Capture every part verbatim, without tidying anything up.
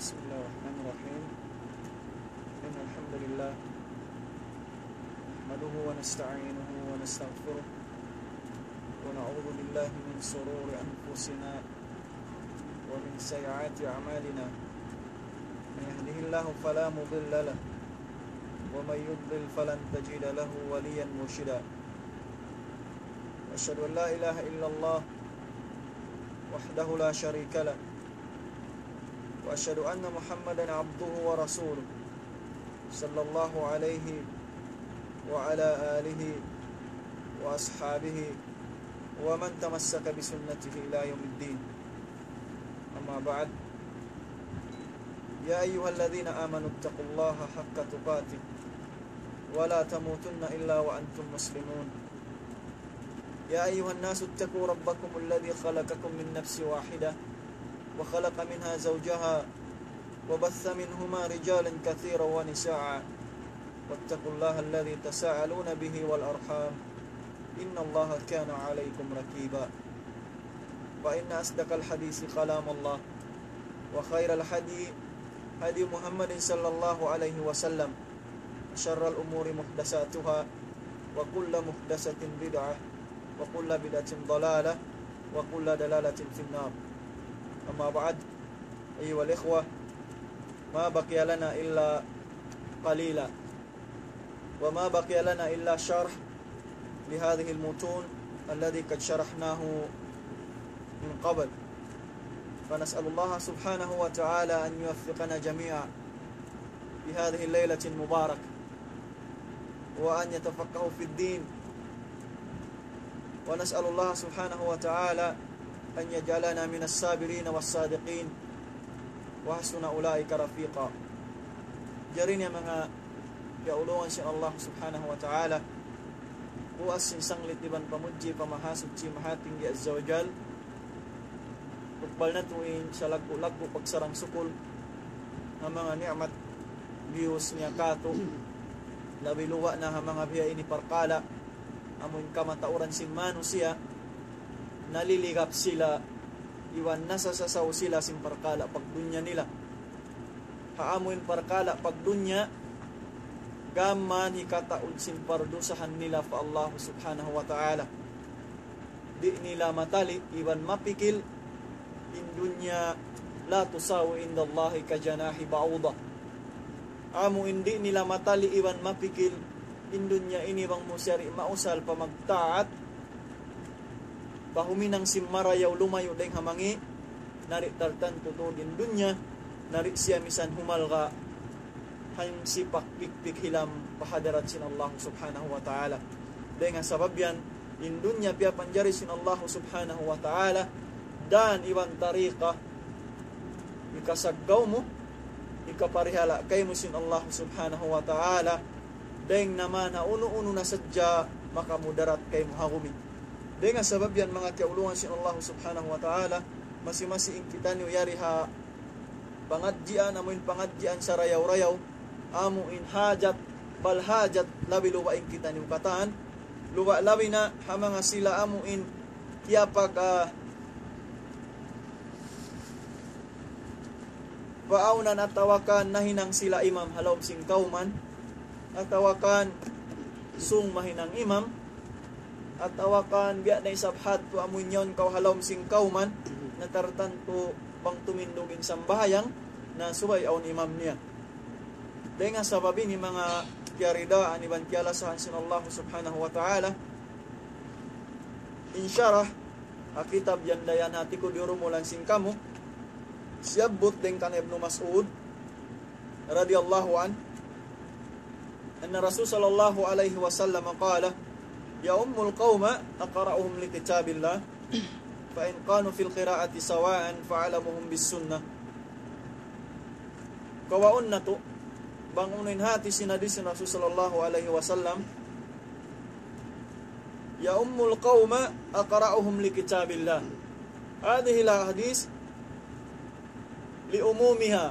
بسم الله الرحمن الرحيم. إن الحمد لله نحمده ونستعينه ونستغفره، ونعوذ بالله من شرور أنفسنا ومن سيئات أعمالنا. من يهده الله فلا مضل له، ومن يضلل فلن تجد له وليا مرشدا. أشهد أن لا إله إلا الله وحده لا شريك له، وأشهد أن محمدا عبده ورسوله، صلى الله عليه وعلى آله وأصحابه ومن تمسك بسنته إلى يوم الدين. أما بعد، يا أيها الذين آمنوا اتقوا الله حق تقاته ولا تموتن إلا وأنتم مسلمون. يا أيها الناس اتقوا ربكم الذي خلقكم من نفس واحدة وخلق منها زوجها وبث منهما رجالا كثيرا ونساء، واتقوا الله الذي تساءلون به والأرحام، إن الله كان عليكم رقيبا. فإن أصدق الحديث كلام الله، وخير الهدي هدي محمد صلى الله عليه وسلم، وشر الأمور محدثاتها، وكل محدثة بدعة، وكل بدعة ضلالة، وكل ضلالة في النار. أما بعد، أيها الإخوة، ما بقي لنا إلا قليلا، وما بقي لنا إلا شرح لهذه المتون الذي قد شرحناه من قبل، فنسأل الله سبحانه وتعالى أن يوفقنا جميعا في هذه الليلة المباركة، وأن يتفقهوا في الدين، ونسأل الله سبحانه وتعالى أن يجعلنا من الصابرين والصادقين وحسن أولئك رفيقا. Jari ini manga kiyaulungan sin Allah Subhanahu wa Ta'ala, puas sin sanglit iban pamudji pa Mahasuchi Mahatinggi Azza wa Jal. Tukbal natu' in salaggu'-laggu' pagsarang-sukul ha manga ni'mat giyus niya kātu', labi luba' na ha manga biya' ini parkala', amu in kamatauran sin manusiya', naliligap sila, iban nasasasaw sila sin parkala' pagdunya nila. Ha amu in parkala' pagdunya, gām hikataud sin pardusahan nila pa Allah Subhanahu wa Ta'ala. Di' nila matali' iban mapikil in dunya, لا تساوي عند الله كجناح بعوضة. Amu in di' nila matali' iban mapikil in dunya ini bang mu siya di' mausal pa magtaat, pa huminang sin marayaw lumayu' dayng ha mangi', na di' tartantu tuud in dunya, na di' siya misan humalga' hangsipak pikpik hilam pa hadarat sin Allah Subhanahu wa Ta'ala. Dayng ha sabab yan, in dunya piyapanjari sin Allah Subhanahu wa Ta'ala, dan iban tariqa, hikasaggaw mu, hikaparihala' kaymu sin Allah Subhanahu wa Ta'ala, dayng na man ha unu-unu na sadja makamudarat kaymu ha gumi. Dayng ha sabab yan, manga kiyaulungan sin Allah Subhanahu wa Ta'ala, masi-masi in kitaniyu yari ha pangadjian, amu in pangadjian sarayaw-rayaw, amu in hajat, bal hajat, labi luba' in kitaniyu katan, luba' labi na ha manga sila amu in tiyapag, ah, paawnan atawa kan nahinang sila imam ha lawm sin kawman, atawa kan sung mahinang imam, atawa kan biya' na isab hadtu amu in yaun kaw ha lawm sin kawman, na tartantu bang tumindug in sambahayang, na subay awn imam niya. Dayng ha sabab ini manga kiyaridaan iban kiyalasahan sin Allah Subhanahu wa Ta'ala, in sharah ha kitab yan dayn ha hāti ku diyurumulan sin kamu, siyabbut dayng kan Ibnu Mas'ud, radiyallahu anhu, أن الرسول صلى الله عليه وسلم قال: يؤم القوم أقرأهم لكتاب الله، فإن كانوا في القراءة سواء فأعلمهم بالسنة. Kawaun natu', bang unu in hāti sin hadis sin Rasul sallallahu alayhi wasallam, يؤم القوم أقرأهم لكتاب الله. هذه الأحاديث لعمومها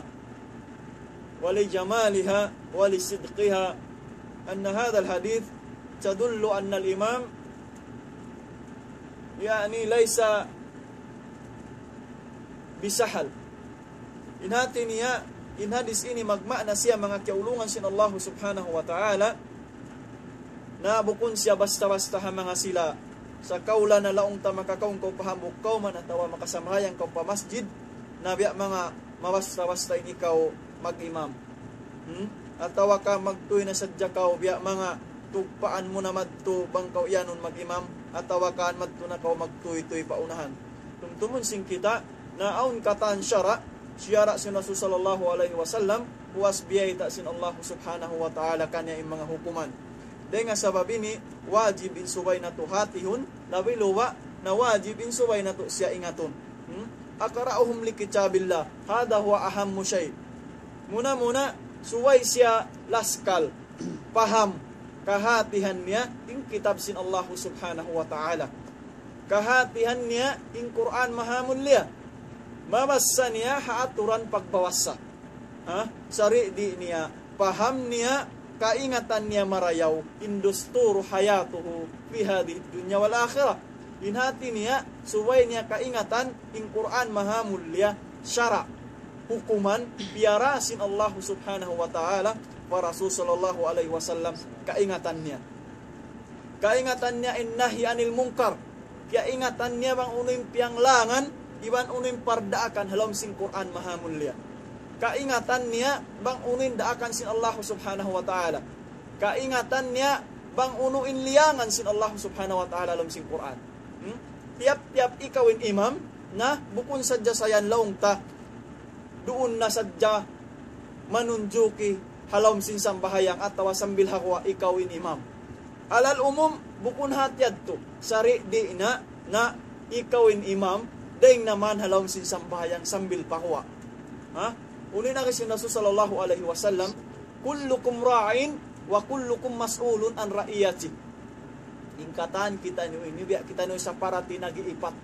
ولجمالها ولصدقها، أن هذا الحديث تدل أن الإمام، يعني، ليس بسهل، In hati niya, in hadith ini magmaana siya manga kiyaulungan sin Allah subhanahu wa ta'ala, na bukun siya basta-basta ha manga sila. Sa' kaw la na laung ta makakaun kaw pa hambuuk kawman atawa makasambahayang kaw pa masjid, na biya' manga mabasta-basta in ikaw mag-imam. Hmm? Atawa ka magtuy na sadja kaw, biya' manga tugpaan mu na madtu bang kaw iyanun mag-imam, atawa ka madtu na kaw magtuy-tuy pa unahan. Tumtumun sin kita, na awn katan sara', sara' sin Rasul sallallahu alayhi wasallam, puas biyayta' sin Allah subhanahu wa ta'ala kaniya in manga hukuman. Dayn ha sabab ini, wajib in subay natu' hatihun, labi luba' na wajib in subay natu' siya ingatun. Hmm? أقرأهم لكتاب الله. هذا هو أهم شيء. Muna-muna, subay siya laskal, paham, kahatihan niya in kitab sin Allah subhanahu wa ta'ala. Kahatihan niya in Qur'an mahamulliya. Mabassa niya ha aturan pagbawassa. Ha? Sari' di' niya, paham niya, kaingatan niya marayaw, in دستور حياته في هذه الدنيا والآخرة. In hati niya, subay niya kaingatan, in Qur'an mahamulliya, sara', hukuman, piyara sin Allah subhanahu wa ta'ala, pa Rasul sallallahu alayhi wasallam, kaingatan niya. Kaingatan niya in nahi anil munkar. Kaingatan niya bang unu in piyanglangan, iban unu in pardaakan ha lawm sin Qur'an mahamulliya. Kaingatan niya bang unu in daakan sin Allah subhanahu wa ta'ala. Kaingatan niya bang unu in liyangan sin Allah subhanahu wa ta'ala ha lawm sin Qur'an. Hmm? Tiyap-tiyap ikaw in imam, na bukun sadja sa yan laung ta, duun na sadja manunjuki ha lawm sin sambahayang atawa sambil ha guwa' ikaw in imam. Alal umum, bukun hati yadtu, sari' di' na, na ikaw in imam, dayn naman ha lawm sin sambahayang sambil pa guwa'. Ha? Unu in agi sin Rasul sallallahu alayhi wasallam, كلكم راع وكلكم مسؤول عن رعيته. In katan kitaniyu ini, biya' kitaniyu sa parati nag-iipat.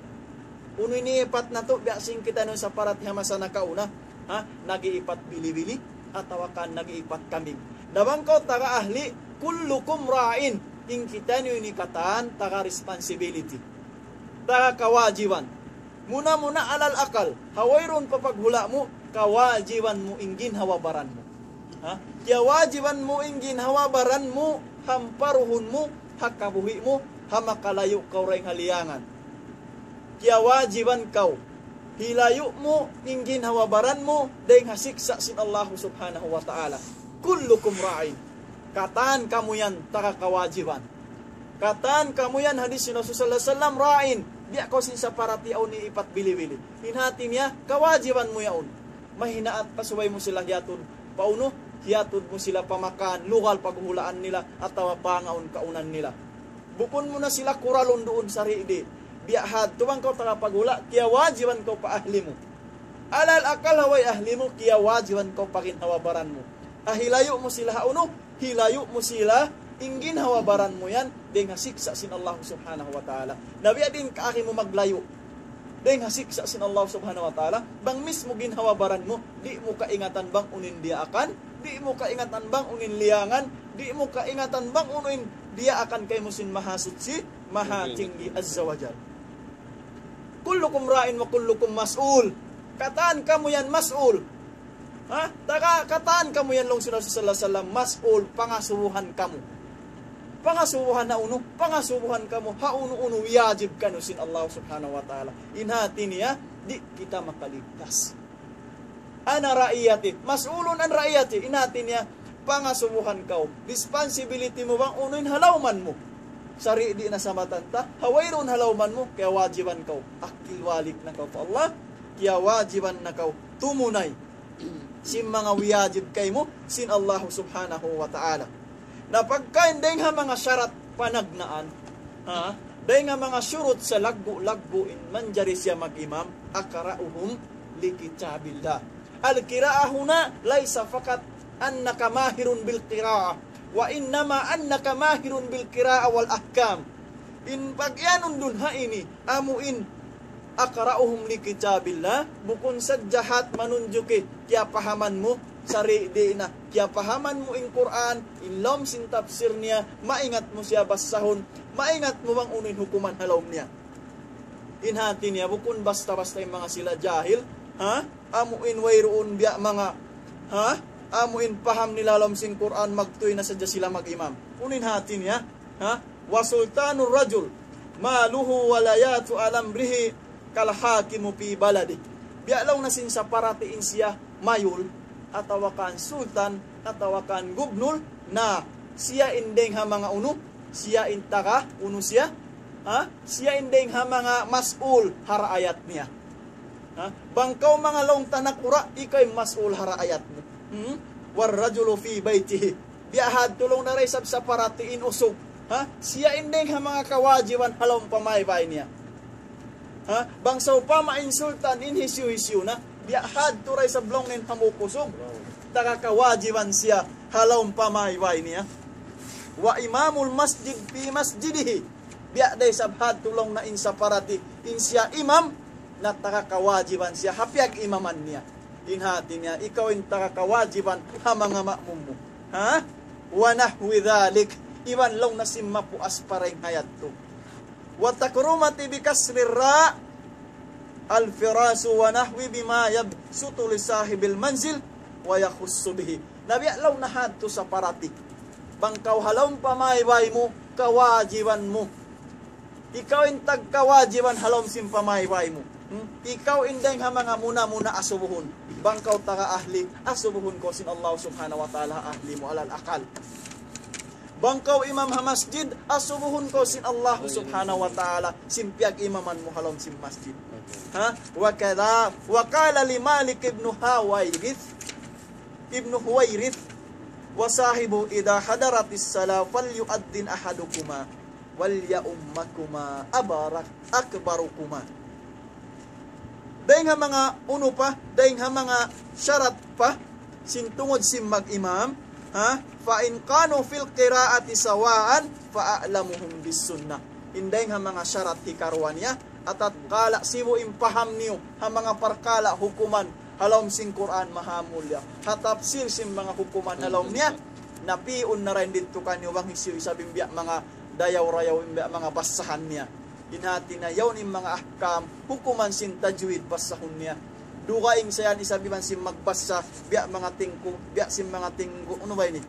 Unu in iipat natu', biya' sin kitaniyu sa parati ha masa nakauna, ha? Nag-iipat bili-bili, atawa kan nag-iipat kambing. Na bang kaw taga ahli, كلكم راع, in kitaniyu ini katan taga responsibility. Taga kawajiban. Muna-muna alal akal, ha wayruun pa paghula' mu, kawajiban mu in ginhawa-baran mu. Ha? Kiyawajiban mu in ginhawa-baran mu, ha amparuhun mu, ha kabuhi' mu, ha makalayu' kaw dayn ha liyangan. Kiyawajiban kaw, hilayu' mu in ginhawa-baran mu, dayn ha siksa' sin Allah subhanahu wa ta'ala. كلكم راع. Katan kamu yan taga kawajiban. Katan kamu yan, hadis sin Rasul sallallahu alayhi wasallam, راع. Biya' kaw sin sa parati awn iipat bili-bili. In hati niya, kawajiban mu yaun. Mahinaat pa subay mu sila hiyatud. Pa unu, hiyatud mu sila pa makan, lugal paghulaan nila, atawa pangaun-kaunan nila. Bukun mu na sila kuralun duun sari' di'. Biya' hadtu bang kaw taga paghula', kiyawajiban kaw pa ahli mu. Alal akal ha way ahli mu, kiyawajiban kaw pa ginhawa-baran mu. Hilayu' mu sila ha unu, hilayu' mu sila in ginhawa-baran mu yan, dayn ha siksa' sin Allah subhanahu wa ta'ala. Na biya' diin kaagi mu maglayu' dayn ha siksa' sin Allah subhanahu wa ta'ala, bang mismu ginhawa-baran mu, di' mu kaingatan bang unu in diyaakan, di' mu kaingatan bang unu in liyangan, di' mu kaingatan bang unu in diyaakan kaymu sin Mahasuchi, Mahatinggi, Azza wa Jal. كلكم راع وكلكم مسؤول. Katan kamu yan mas'ul. Ha? Taga katan kamu yan laung sin Rasul sallallahu alayhi wasallam, mas'ul, pangasubuhan kamu. Pangasubuhan ha unu, pangasubuhan kamu, ha unu-unu wiyajib kaniyu sin Allah subhanahu wa ta'ala. In hati niya, di' kita makaligtas. أنا رعيتي، مسؤول عن رعيتي. In hati niya, pangasubuhan kaw. Responsibility mu bang unu in ha lawman mu. Sari' di' na sa matan ta, ha wayruun ha lawman mu, kiyawajiban kaw. Akil balik na kaw pa Allah, kiyawajiban na kaw tumunay sin manga wiyajib kaymu sin Allah subhanahu wa ta'ala. Na pagkahi dayn ha manga sharat panagnaan, ha? Dayn ha manga shurut sa laggu'-laggu' in manjari siya mag-imam, أقرأهم لكتاب الله. القراءة هنا ليس فقط أنك ماهر بالقراءة، وإنما أنك ماهر بالقراءة والأحكام. In pag-iyanun duun ha ini, amu in أقرأهم لكتاب الله, bukun sadja hat manunjuki kiyapahaman mu, sari' di' na, kiyapahaman mu in Qur'an, in lawm sin tafsir niya, maingat mu siya basahun, maingat mu bang unu in hukuman ha lawm niya. In hati niya, bukun basta-basta in manga sila jahil, Ha? Amu in wayruun biya' manga, ha? Amu in paham nila ha lawm sin Qur'an, magtuy na sadja sila mag-imam. Unu in hati niya? Ha? وسلطان الرجل ماله ولايته على أمره كالحاكم في بلده. Biya' laung na sin saparati in siya mayul, atawa kan sultan, atawa kan gubnul, na siya in dayng ha manga unu, siya in taga unu siya, ha? Siya in dayng ha manga mas'ul ha raayat niya. Ha? Bang kaw manga laung ta nakura', ikaw in mas'ul ha raayat mu. Hmm? والرجل في بيته. Biya' hadtu laung na da isab saparati in usug. Ha? Siya in dayng ha manga kawajiban ha lawm pamaybay niya. Ha? Bang sawpama in sultan in hisiyu-hisiyu na, biya' hadtu da isab laung na in hambuuk usug. Taga kawajiban siya ha lawm pamaybay niya. وإمام المسجد في مسجده. Biya' da isab hadtu laung na in saparati, in siya imam, na taga kawajiban siya ha piyag-imaman niya. In hati niya, ikaw in taga kawajiban ha manga ma'mum mu. Ha? ونحو ذلك. Iban laung na sin mapuas pa dayng ha yadtu. وتكرمت بكسر الراء الفراش ونحوه بما يبسط لصاحب المنزل ويخص به. Na biya' laung na hadtu saparati. Bang kaw ha lawm pamaybay mu, kawajiban mu. Ikaw in tagkawajiban ha lawm sin pamaybay mu. Hmm? Ikaw in dayng ha manga muna-muna asubuhun. Bang kaw taga ahli, asubuhun kaw sin Allah subhanahu wa ta'ala ahli mu alal akal. Bang kaw imam ha masjid, asubuhun kaw sin Allah subhanahu wa ta'ala, sin piyag-imaman mu ha lawm sin masjid. Ha? وكذا، وقال لمالك بن حويرث، ابن حويرث، وصاحبه إذا حضرت الصلاة فليؤذن أحدكما وليؤمكما أبرك-، أكبركما. Dayng ha manga unu pa, dayng ha manga sharat pa, sin tungud sin mag-imam, ha? فإن كانوا في القراءة سواء فأعلمهم بالسنة. In dayng ha manga sharat hikaruwa niya, atatkala sibu' in paham niyu ha manga parkala' hukuman ha lawm sin Qur'an mahamulya, ha tafsir sin manga hukuman ha lawm niya, na pi'un na dayn didtu kaniyu bang hisiyu isab in biya' manga dayaw-rayaw, in biya' manga bassahan niya. In hati niya yaun in manga ahkam, hukuman sin tajwid basahun niya. Dugaing sa yan isab iban sin magbasa, biya' manga tingku, biya' sin manga tinggu, unu ba ini?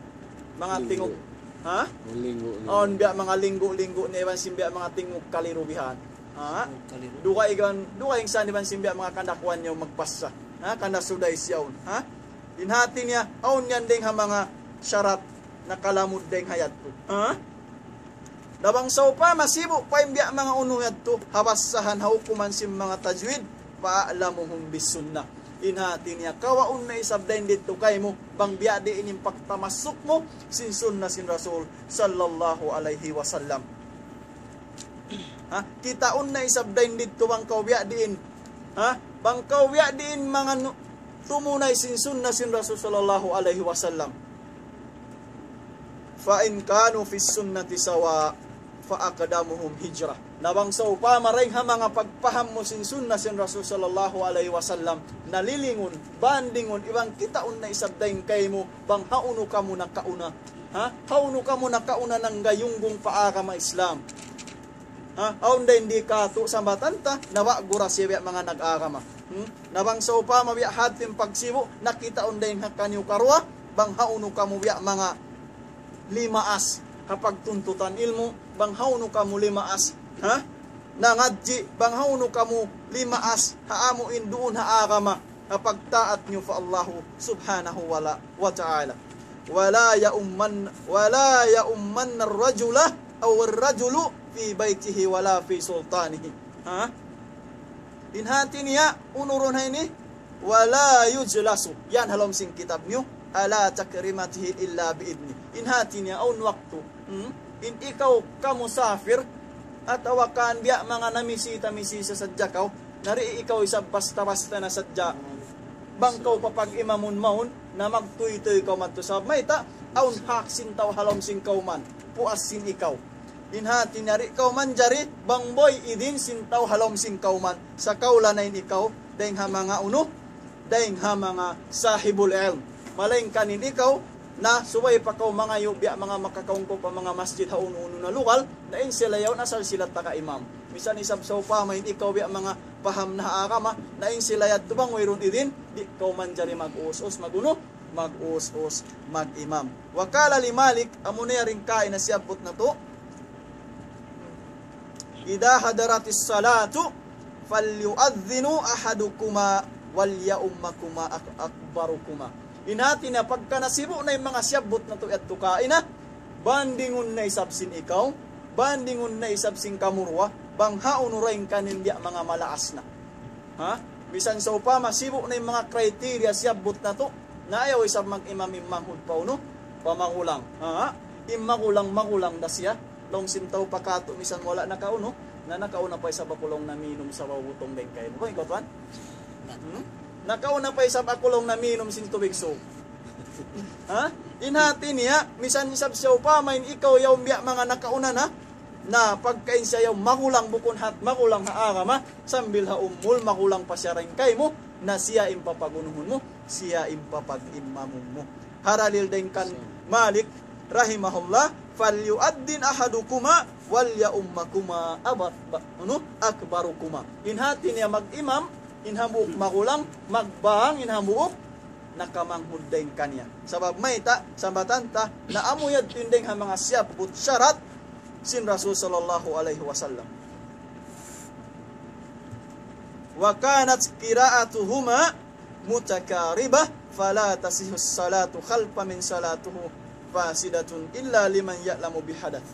Manga tingug. Ha? Linggu, linggu. Awn biya' manga linggu-linggu niya iban sin biya' manga tingug kaliru bihan. Ha? Tingug kaliru. Dugaing, dugaing sa yan iban sin biya' manga kandakuan niya magbasa. Ha? Kana suday siya yaun. Ha? In hati niya, awn yan dayng ha manga sharat nakalamud dayng ha yadtu. Ha? Na bang sawpama sibu' pa in biya' manga unu yadtu, ha bassahan ha hukuman sin manga tajwid, فأعلمهم بالسنة. In hati niya, kawaun na isab dayn didtu kaymu, bang biya' diin in pagtamassuk mu sin sunna sin Rasul sallallahu alayhi wasallam. Ha? Kitaun na isab dayn didtu bang kaw biya' diin. Ha? Bang kaw biya' diin manga nu-, tumunay sin sunna sin Rasul sallallahu alayhi wasallam. فإن كانوا في السنة سواء فأقدمهم هجرة. Na bang sawpama dayng ha manga pagpaham mu sin sunna sin Rasul sallallahu alayhi wasallam, nalilingun, bandingun, iban kitaun na isab dayn kaymu, bang hawnu kamu nakauna. Ha? Hawnu kamu nakauna nanggayunggung pa agama Islam. Ha? Awn dayn di katu' sambatan ta, na wa' gura siya biya' manga nag-agama. Hmm? Na bang sawpama biya' hati in pagsibu', na kitaun dayn ha kaniyu karuwa, bang hawnu kamu biya' manga limaas ha pagtuntutan ilmu', bang hawnu kamu limaas, ha? Nangadji', bang hawnu kamu limaas ha amu in duun ha agama, ha pagtaat niyu pa Allahu subhanahu wa la-, wa ta'ala. ولا يؤمن، ولا يؤمن الرجل أو الرجل في بيته ولا في سلطانه. Ha? In hati niya, unurun ha ini, ولا يجلس. Yan ha lawm sin kitab niyu, على تكريمته إلا بإذنه. In hati niya, awn waktu. Hmm? In ikaw kamusafir, atawa kan biya' manga namisita-misita sadja kaw, na di' ikaw isab basta-basta na sadja. Bang kaw papag-imamun mawn, na magtuytuy kaw madtu sabab mayta', awn hak sin tau ha lawm sin kawman, puas sin ikaw. In hati niya di' kaw manjari, bang biyuy idin sin tau ha lawm sin kawman, sa kaw la na in ikaw, dayng ha manga unu, dayng ha manga sahibul ilm. Malaingkan in ikaw, na subay pa kaw mangayu' biya' manga makakaun kaw pa manga masjid ha unu-unu na lugal, na in sila yaun asal sila taga imam. Misan isab sawpama in ikaw biya' manga paham na ha agama, na in sila yadtu bang wayruun idin, di' kaw manjari mag-us-us, mag-unu, mag-us-us, mag-imam. Wa qala li Malik, amuna yari in kaina siyabbut natu', إذا حضرت الصلاة فليؤذن أحدكما وليؤمكما أك-، أكبركما. In hati niya pagka nasibu' na in manga siyabbut natu' yadtu kaina, bandingun na isab sin ikaw, bandingun na isab sin kamu duwa, bang hawnu dayn kaniyu in biya' manga malaas na. Ha? Misan sawpama, sibu' na in manga criteria siyabbut natu', na ayaw isab mag-imam in manghud pa unu, pa magulang. Ha? In magulang, magulang da siya. Laung sin tau pa katu', misan wala' nakaunu, na nakauna pa isab aku laung naminum sabaw butong dayn kaymu. Bang ikaw, tuwan? Hmm? Nakauna pa isab aku laung naminum sin tubig suuk. Ha? In hati niya, misan isab sawpama in ikaw yaun biya' manga nakauna na, na pagka in siya yaun magulang bukun hat magulang ha agama, sambil ha umul magulang pa siya dayn kaymu, na siya in papagunuhun mu, siya in papag-imamun mu. Ha dalil dayn kan Malik rahimahullah, فليؤذن أحدكما وليؤمكما أب-، ba-، unu, أكبركما. In hati niya mag-imam, in hambuuk magulang, magbang in hambuuk nakamanghud dayn kaniya. Sabab mayta', sambatan ta, na amu yadtu in dayn ha manga siyabbut sharat sin Rasul sallallahu alayhi wasallam. وكانت قراءتهما متقاربة فلا تصح الصلاة خلف من صلاته فاسدة إلا لمن يعلم بحدث.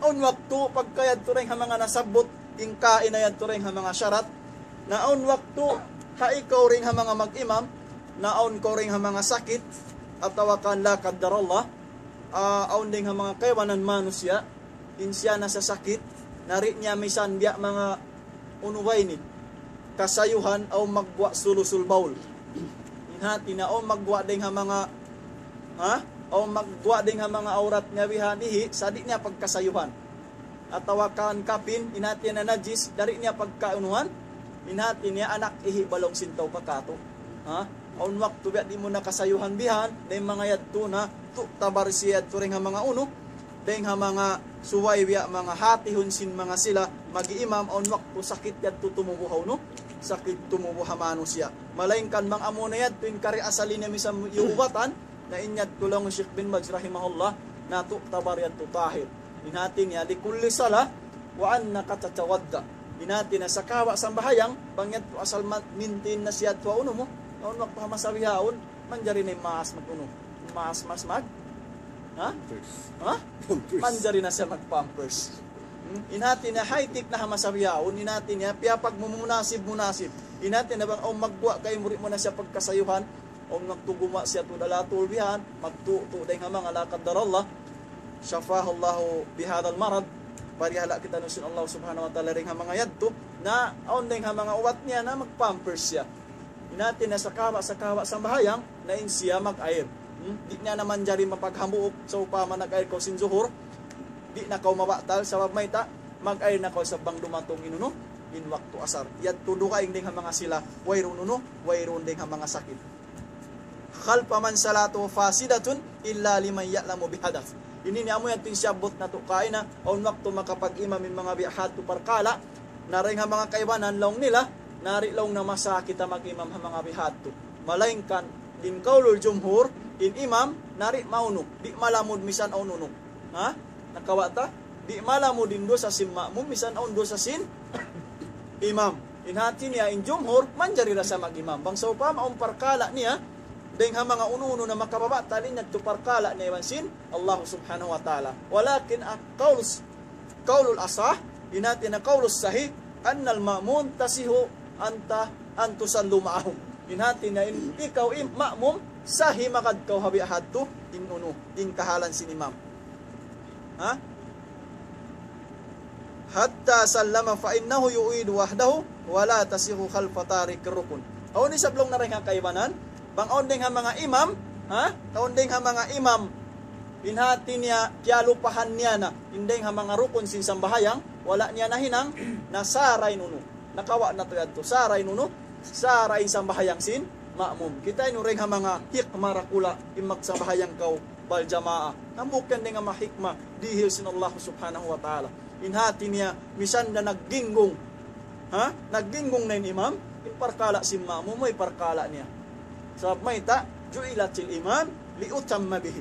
Awn waktu pagka yadtu dayn ha manga nasabbut, in kaina yadtu dayn ha manga sharat, na awn waktu ha ikaw dayn ha manga mag-imam, na awn kaw dayn ha manga sakit, atawa kan la qaddarallah, ah, awn dayn ha manga kaibanan manusiya', in siya nasasakit, na di' niya misan biya' manga unu ba ini, kasayuhan, awn magguwa' sulusul bawl. In hati niya, awn magguwa' dayn ha manga, ha? Awn magguwa' dayn ha manga awrat niya bihan, ihi', sa' di' niya pagkasayuhan. Atawa kan kapin, in hati niya najis, di' niya pagkaunuhan, in hati niya anak ihi' ba laung sin tau pa katu'. Ha? Awn waktu biya' di' mu na kasayuhan bihan, dayn manga yadtu na, tu'tabar siya yadtu dayn ha manga unu, dayn ha manga subay biya' manga hatihun sin manga sila, mag-iimam, awn waktu sakit yadtu tumubu' ha unu, sakit tumubu' ha manusiya'. Malaingkan bang amuna yadtu in kari asal niya misan iyubatan, na in yadtu laung Sheikh bin Baz rahimahullah, na tu'tabar yadtu tahir. In hati niya, لكل صلاة وأنك تتوضأ. In hati niya, sakawa' sambahayang, bang yadtu asal ma-, maintain na siya tuwa unu mu, awn waktu ha masa bihaun, manjari na in maas mag-unu. Maas, maas mag-, ha? Pampers. Ha? Pampers. Manjari na siya mag-pampers. Hmm? In hati niya, high-tech na ha masa bihaun, in hati niya, piyapagmumunasib-munasib. In hati niya, bang awn magguwa' kaymu, di' mu na siya pagkasayuhan, awn magtuguma' siya tuud ala tuud bihan, magtutu' dayn ha manga la qaddarallah, شفاه الله بهذا المرض, parihala' kitaniyu sin Allah subhanahu wa ta'ala dayn ha manga yadtu, na awn dayn ha manga ubat niya na mag-pampers siya. In hati niya sakawa', sakawa' sambahayang, na in siya mag-air. Hmm? Di' niya na manjari mapaghambuuk, sawpama nag-air kaw sin zuhur, di' na kaw mabatal, sabab mayta', mag-air na kaw sa bang dumatung in unu, in waktu asar. Yadtu dugaing dayn ha manga sila, wayruun unu, wayruun dayn ha manga sakit. خلف من صلاته فاسدة إلا لمن يعلم بحدث. Ini niya amu yadtu in siyabbut natu' kaina, awn waktu makapag-imam in manga biya' hadtu parkala', na dayn ha manga kaibanan laung nila, na di' laung na masa kita mag-imam ha manga biya' hadtu. Malaingkan, in qaulul jumhur, in imam, na di' maunu, di' malamud misan awn unu. Ha? Nakawa' ta? Di' malamud in dusa sin ma'mum, misan awn dusa sin imam. In hati niya in jumhur, manjari da siya mag-imam. Bang sawpama awn parkala' niya, dayn ha manga unu-unu na makababatal, in yadtu parkala' niya iban sin Allah subhanahu wa ta'ala. ولكن القول، قول الأصح, in hati niya qaulus sahih, أن المأموم تصح أن ت-، أن تصلوا معهم. In hati niya in ikaw in ma'mum, sahih magad kaw ha biya' hadtu, in unu, in kahalan sin imam. Ha? حتى سلم فإنه يعيد وحده ولا تصح خلف تارك الركن. Awn isab laung na dayn ha kaibanan, bang awn dayn ha manga imam, ha? Awn dayn ha manga imam, in hati niya, kiyalupahan niya na, in dayn ha manga rukun sin sambahayang, wala' niya nahinang, na sara in unu. Nakawa' natu' yadtu, sara in unu, sara in sambahayang sin ma'mum. Kitaa niyu dayn ha manga hikmah dakula', in magsambahayang kaw, bal jamaah. Hambuuk yan dayn ha manga hikmah, dihil sin Allah subhanahu wa ta'ala. In hati niya, misan da nagginggung. Ha? Nagginggung na in imam, in parkala' sin ma'mum, way parkala' niya. Sabab mayta', جعل الإمام ليؤتم به.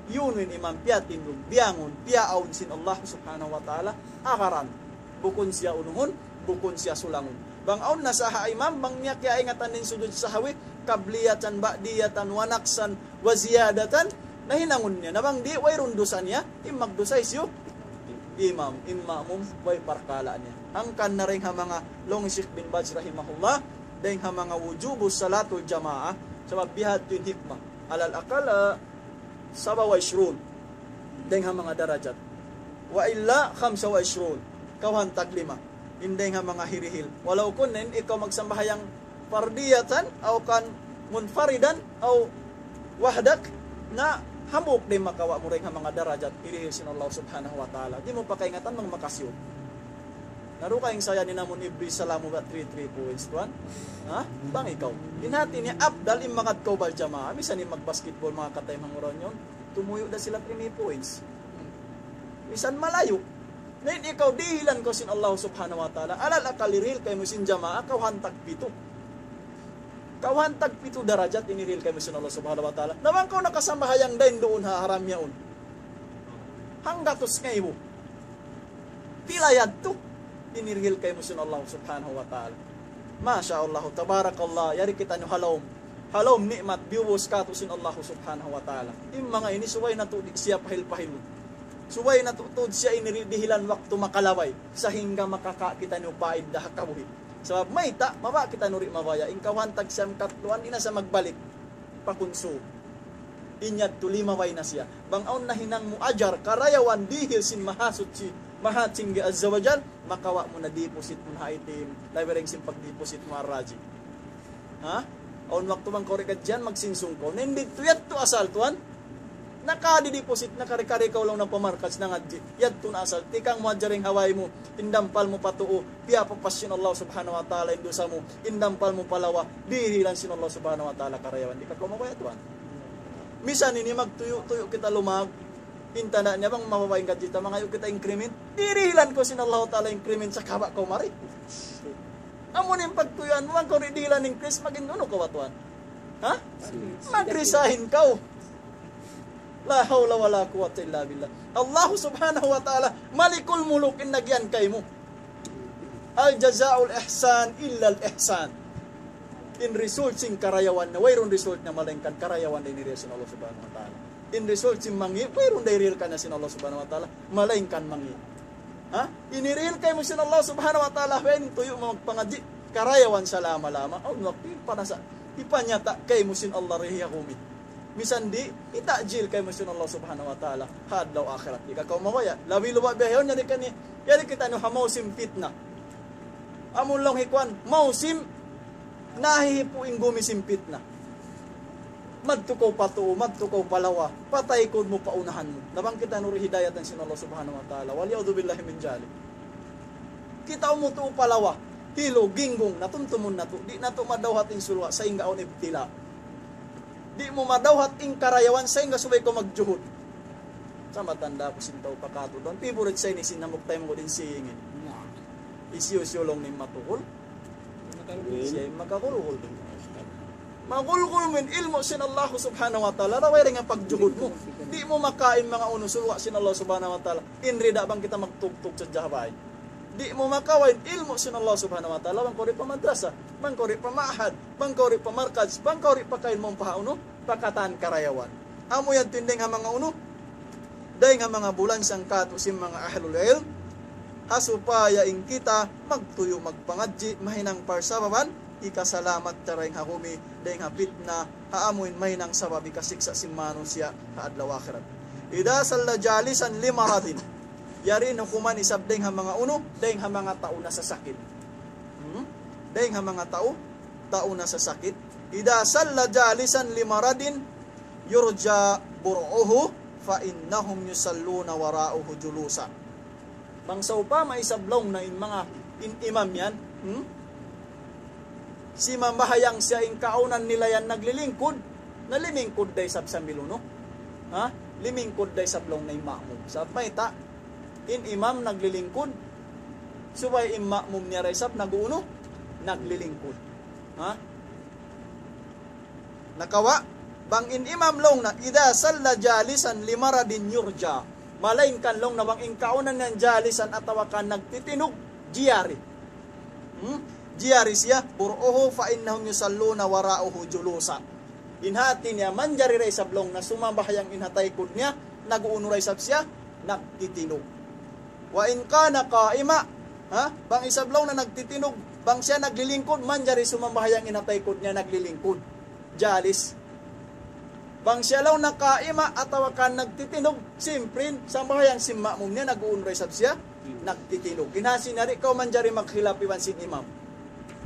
Unu in imam piyatindug, biyangun, piyaawn sin Allah Subhanahu wa Ta'ala, agaran. Bukun siya unuhun, bukun siya sulangun. Bang awn na sa ha imam, bang niya kiyaingatan in sujud sahwi, qabliyatan, ba'diyatan, wa naqsan, wa ziyadatan, na hinangun niya. Na bang di', wayruun dusa niya, in magdusa hisiyu? Imam, in ma'mum, way parkala' niya. Hangkan na dayn ha manga, laung hi Sheikh bin Baz rahimahullah, dayn ha manga وجوب صلاة الجماعة, sabab bihadtu in hikmah. Alal akal, ah, سبع وعشرون. Dayn ha manga darajat. وإلا خمسة وعشرون. Kawhaan tag lima. In dayn ha manga hirihil. Walaw kun in ikaw magsambahayang fardiyatan, aw kan munfaridan, aw wahdak, na hambuuk da in makawa' mu dayn ha manga darajat, hirihil sin Allah Subhanahu wa Ta'ala. Di' mu pa kaingatan bang makasiyu. Na dugaing sa yan in amun every salamu ba three, three points, tuwan? Ha? Bang ikaw. In hati niya, afdal in magad kaw bal jamaa. Misan in magbasketball, manga kataymanghuran yan, tumuyu' da sila three points. Misan malayu'. Na in ikaw, dihilan kaw sin Allah Subhanahu wa Ta'ala. Alal akal hirihil kaymu sin jamaa, kawhaan tag pitu. Kawhaan tag pitu darajat in hirihil kaymu sin Allah Subhanahu wa Ta'ala. Na bang kaw nakasambahayang dayn duun ha haram yaun. Hanggatus ngaibu. Pila yadtu? In hirihil kaymu sin Allah Subhanahu wa Ta'ala. Masha Allah, tabarakallah, yari kitaniyu ha lawm. Ha lawm ni'mat, biyubus katu' sin Allah Subhanahu wa Ta'ala. In manga ini subay natu' di' siya pahil-pahil. Subay natu' tuud siya ini di-, dihilan waktu makalabay. Sahingga makaka-, kitaniyu paidda ha kabuhi'. Sabab mayta', mabaya' kitaniyu di' mabaya'. In kawhaan tag siyam katluan, di' na siya magbalik. Pakunsu. In yadtu limabay na siya. Bang awn nahinang mu ajar, karayawan dihil sin Mahasuchi, Mahatinggi Azza wa Jal, makawa' mu na deposit mu na ha A T M, labi dayn sin pag-deposit mu ha Raji. Ha? Awn waktu bang kaw di' kadjian, magsinsung kaw. Na in didtu yadtu asal, tuwan. Nakadi-deposit, nakari-kari kaw laung na pa markaz nangadji'. Yadtu na asal. Tikang mu hadja dayn ha way mu, tindampal mu pa tuu, piyapapas sin Allah Subhanahu wa Ta'ala in dusa mu, tindampal mu pa lawa, dihilan sin Allah Subhanahu wa Ta'ala karayawan. Di' ka kaw mabaya', tuwan. Misan ini magtuyu'-tuyu' kita lumag, in tanda' niya bang mababa' in gadji ta, mangayu' kita increment, dihilan kaw sin Allah Ta'ala increment sa kaba' kaw mari. Amu in pagtuyuan mu, bang kaw di' dihilan increase, magin unu kaw ba, tuwan? Ha? Mag-resign kaw. لا حول ولا قوة إلا بالله. Allah Subhanahu wa Ta'ala, Malikul Muluk in nagyan kaymu. هل جزاء الإحسان إلا الإحسان. In result sin karayawan na, wayruun result na malaingkan karayawan da in hirihil sin Allah Subhanahu wa Ta'ala. In result sin mangi', wayruun da hirihil kaniya sin Allah Subhanahu wa Ta'ala, malaingkan mangi'. Ha? In hirihil kaymu sin Allah Subhanahu wa Ta'ala, when tuyu' mu magpangadji', karayawan salama-lama. Awn waktu in panasa, hipanyata' kaymu sin Allah rihi ha kumi. Misan di', hitajil kaymu sin Allah Subhanahu wa Ta'ala ha adlaw akhirat. Di' ka kaw mabaya'. Labi luba' biya' yaun, yari kani, yari kitaniyu ha mausim pitna. Amun laung hi kuwan, mausim nahihipu' in gumi sin pitna. Madtu kaw pa tuu, madtu kaw pa lawa, pataykud mu pa unahan mu. Na bang kitaniyu di' hidayatan sin Allah Subhanahu wa Ta'ala. والعياذ بالله من ذلك. Kita' mu tuu pa lawa, hilu, ginggung, na tumtumun natu'. Di' natu' madawhat in sulwa', sahingga awn ibtila. Di' mu madawhat in karayawan, sahingga subay kaw magjuhud. Sa' matanda' ku sin tau pa katu'. Don't favorite sa ini sin hambuuk taymanghud in singin. Hisiyu-siyu laung niya in matuhul. Siya in makagulgul. Magulgul mu in ilmu' sin Allah Subhanahu wa Ta'ala, way dayn ha pagjuhud mu. Di' mu makawa' in manga unu sulwa' sin Allah Subhanahu wa Ta'ala. In rida bang kita magtugtug sadja ha bay. Di' mu makawa' in ilmu' sin Allah Subhanahu wa Ta'ala, bang kaw di' pa madrasa, bang kaw di' pa ma'had, bang kaw di' pa markaz, bang kaw di' pa kailmuun pa ha unu, pa katan karayawan. Amu yan in dayn ha manga unu, dayn ha manga bulan sangkatu' sin manga ahlul ilm, ha supaya in kita magtuyu' magpangadji', mahinang parsababan, hikasalamat ta dayn ha kumi, dayn ha pitna, ha amu in mahinang sabab hikasiksa' sin manusiya' ha adlaw akhirat. إذا صلى جالسا لمرض. Yari in hukuman isab dayn ha manga unu, dayn ha manga tau nasasakit. Hmm? Dayn ha manga tau, tau nasasakit. إذا صلى جالسا لمرض يرجى برؤه فإنهم يصلون وراءه جلوسا. Bang sawpama isab laung na in manga in imam yan, hmm? Simambahayang siya in kaawnan nila yan naglilingkud, na limingkud da isab sambil unu? Ha? Limingkud da isab laung na in ma'mum. Sabab mayta', in imam naglilingkud, Subay in ma'mum niya da isab nag-uunu, naglilingkud. Ha? Nakawa', bang in imam laung niya, إذا صلى جالسا لمرض يرجى. Malaingkan laung niya bang in kaawnan niya jalisan atawa ka nagtitinug, jiyari. Hmm? Jiyari siya, برؤه فإنهم يصلون وراءه جلوسا. In hati niya, manjari da isab laung niya sumambahayang in ha taykud niya, nag-uunu da isab siya, nagtitinug. وإن كان قائما, ha? Bang isab laung niya nagtitinug, bang siya naglilingkud, manjari sumambahayang in ha taykud niya naglilingkud. Jalis. Bang siya laung niya kaima atawa ka nagtitinug, simprin, sambahayang sin ma'mum niya, nag-uunu da isab siya, nagtitinug. In hati niya di' kaw manjari magkhilaf iban sin imam.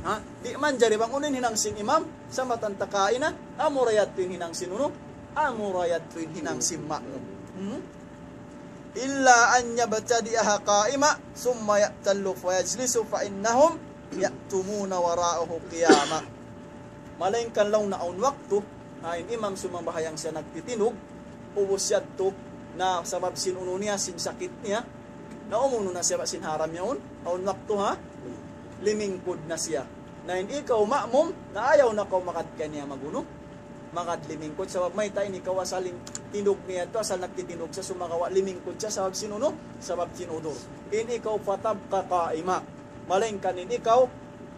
Ha? Di' manjari bang unu in hinang sin imam, sa' matanta kaina, amura yadtu in hinang sin unu, amura yadtu in hinang sin ma'mum. Hmm? إلا أن يبتدئها قائما ثم يعتل فيجلس فإنهم يأتمون وراءه قياما. Malaingkan laung niya awn waktu, ha, in imam sumambahayang siya nagtitinug, ubus yadtu, na sabab sin unu niya, sin sakit niya, na umunu na siya sin haram yaun, awn waktu, ha, limingkud na siya. Na in ikaw ma'mum, na ayaw na kaw magad kaniya magunu, magad limingkud, sabab mayta' in ikaw asal in tinug niya yadtu, asal nagtitinug siya, sumagawa' limingkud siya, sabab sin unu, sabab sin udur. In ikaw فتبقى قائما. Malaingkan in ikaw,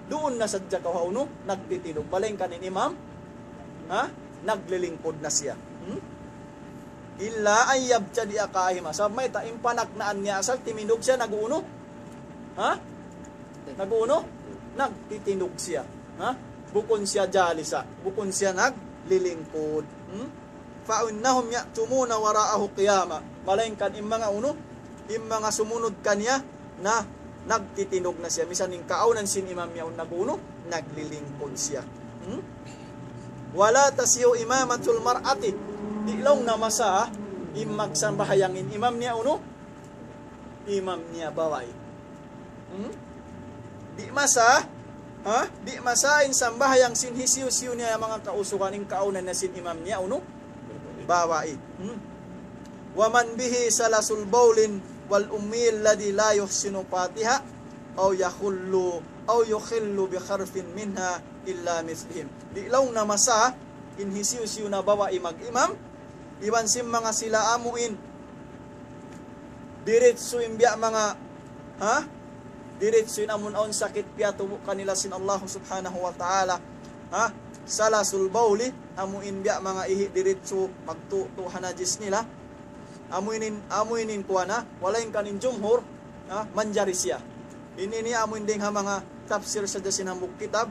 duun na sadja kaw ha unu, nagtitinug. Malaingkan in imam, ha? Naglilingkud na siya. Hmm? إلا أن يبتدئها قائما. Sabab mayta', in panagnaan niya asal, timinug siya, nag-uunu. Ha? Nag-uunu? Nagtitinug siya. Ha? Bukun siya jalisa. Bukun siya naglilingkud. Hmm? فإنهم يأتمون وراءه قياما. Malaingkan in manga unu, in manga sumunud kaniya na nagtitinug na siya. Misan in kaawnan sin imam niya yaun nag-unu, naglilingkud siya. Hmm? ولا تصح إمامة المرأة. Di' laung niya masah in magsambahayang in imam niya unu, imam niya babai. Hmm? Di' masah, ha? Di' masah in sambahayang sin hisiyu-siyu niya manga kausugan in kaawnan niya sin imam niya unu, babai. Hmm? ومن به سلس بول والأمي الذي لا يحسن الفاتحة أو يخل، أو يخل بحرف منها إلا مثلهم. Di' laung niya masah in hisiyu-siyu na babai mag-imam, iban sin manga sila amuin diritsu in biya' manga, ha? Diritsu in amun awn sakit piyatubu' kanila sin Allah Subhanahu wa Ta'ala. Ha? سلس البول, amuin biya' manga ihi' diritsu magtutu' ha najis nila. Amuin, amuin kuwan, ha? Malaingkan in jumhur, ha? Manjari siya. Ini, ini amuin dayng ha manga tafsir sadja sin hambuuk kitab.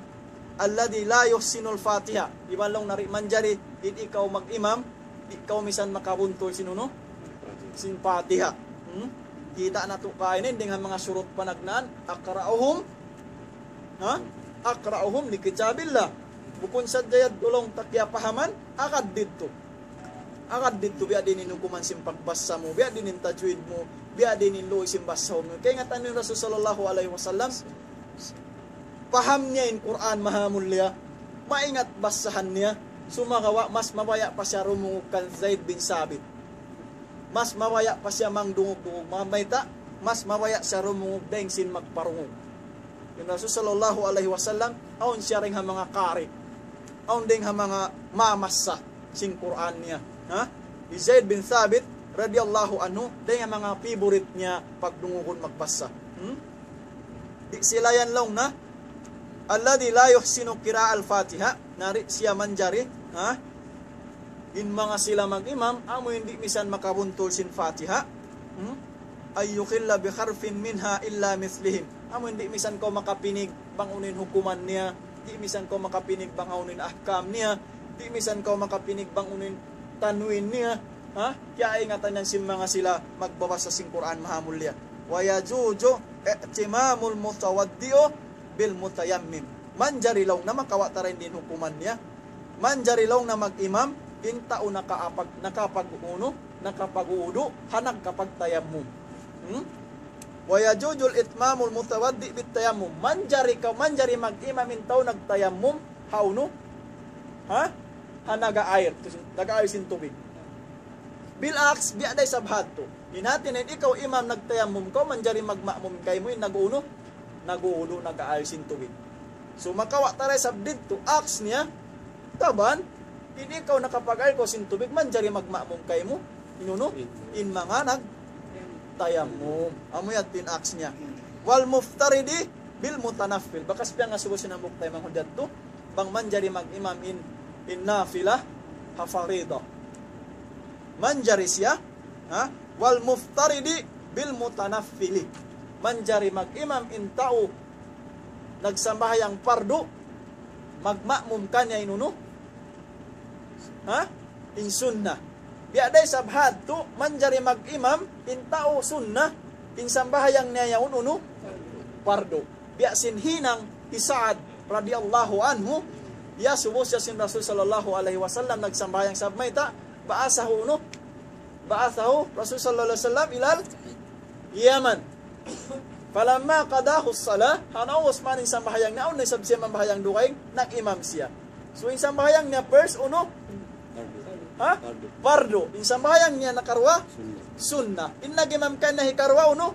الذي لا يحسن الفاتحة. Iban laung niya di' manjari, in ikaw mag-imam, di' kaw misan makabuntul sin unu, sin Fatiha. Hmm? Kita' natu' kaina in dayng ha manga surut panagnaan, أقرأهم, ha? أقرأهم لكتاب الله. Bukun sadja yadtu laung ta kiyapahaman, agad didtu. Agad didtu biya' diin in hukuman sin pagbasa mu, biya' diin in tajwid mu, biya' diin in luuy sin basahun mu. Kaingatan niyu in Rasul sallallahu alayhi wasallam, paham niya in Qur'an mahamulliya, maingat basahan niya, sumagawa' mas mabaya' pa siya dumungug kan Zaid bin Sabit. Mas mabaya' pa siya mangdungug-dungug. Manga mayta', mas mabaya' siya dumungug dayng sin magparungug. In Rasul sallallahu alayhi wasallam, awn siya dayng ha manga qari. Awn dayng ha manga mamassa sin Qur'an niya. Ha? Hi Zaid bin Thabit radiyallahu anhu, dayng ha manga favorite niya pagdungugun magbasa. Hmm? Di' sila yan laung niya, الذي لا يحسن قراءة الفاتحة, na di' siya manjari, ha? In manga sila mag-imam, amu in di' misan makabuntul sin Fatiha. Hmm? أن يخل بحرف منها إلا مثلهم. Amu in di' misan kaw makapinig bang unu in hukuman niya, di' misan kaw makapinig bang unu in ahkam niya, di' misan kaw makapinig bang unu in tanwin niya. Ha? Kiyaingatan yan sin manga sila magbabasa sin Qur'an mahamulliya. ويجوز ائتمام المتوضئ بالمتيمم. Manjari laung niya makawa' ta dayn di in hukuman niya. Manjari laung niya mag-imam in tau nakaapag-, nakapag-unu, nakapag-udu', ha nagkapagtayammum. Hmm? ويجوز ائتمام المتوضئ بالتيمم. Manjari ka, manjari mag-imam in tau nagtayammum, ha unu? Ha? Ha naga-air, naga-air sin tubig. Bil aks, biya' da isab hadtu. In hati niya in ikaw imam nagtayammum kaw, manjari magma'mum kaymu in nag-unu, nag-uulu, nag-aayil sin tubig. So, makawa' ta da isab didtu, aks niya, taban, in ikaw nakapag-aayil kaw sin tubig, manjari magma'mum kaymu, in unu, in manga nagtayammum. Amu yadtu in aks niya. Wal muftaridi bil mutanaffil. Bakas piyangasubu sin hambuuk taymanghud yadtu, bang manjari mag-imam in, in nafila, ha farida. Manjari siya, ha? Wal muftaridi bil mutanaffili. Manjari mag-imam in tau nagsambahayang pardu, magma'mum kaniya in unu? Ha? In sunna. Biya' da isab hadtu, manjari mag-imam in tau sunna, in sambahayang niya yaun unu? Pardu. Biya' sin hinang hi Sa'ad radiyallahu anhu, iyasubu siya sin Rasul sallallahu alayhi wasallam, nagsambahayang isab mayta', ba'athahu unu? Ba'athahu Rasul sallallahu alayhi wasallam ilal Yaman. Falamma qadahu salah, ha naubus man in sambahayang niya, awn na isab siya mambahayang dugaing, nag-imam siya. So, in sambahayang niya first, unu? Ha? Pardu. In sambahayang niya nakaruwa? Sunna. In nag-imam kaniya hikaruwa, unu?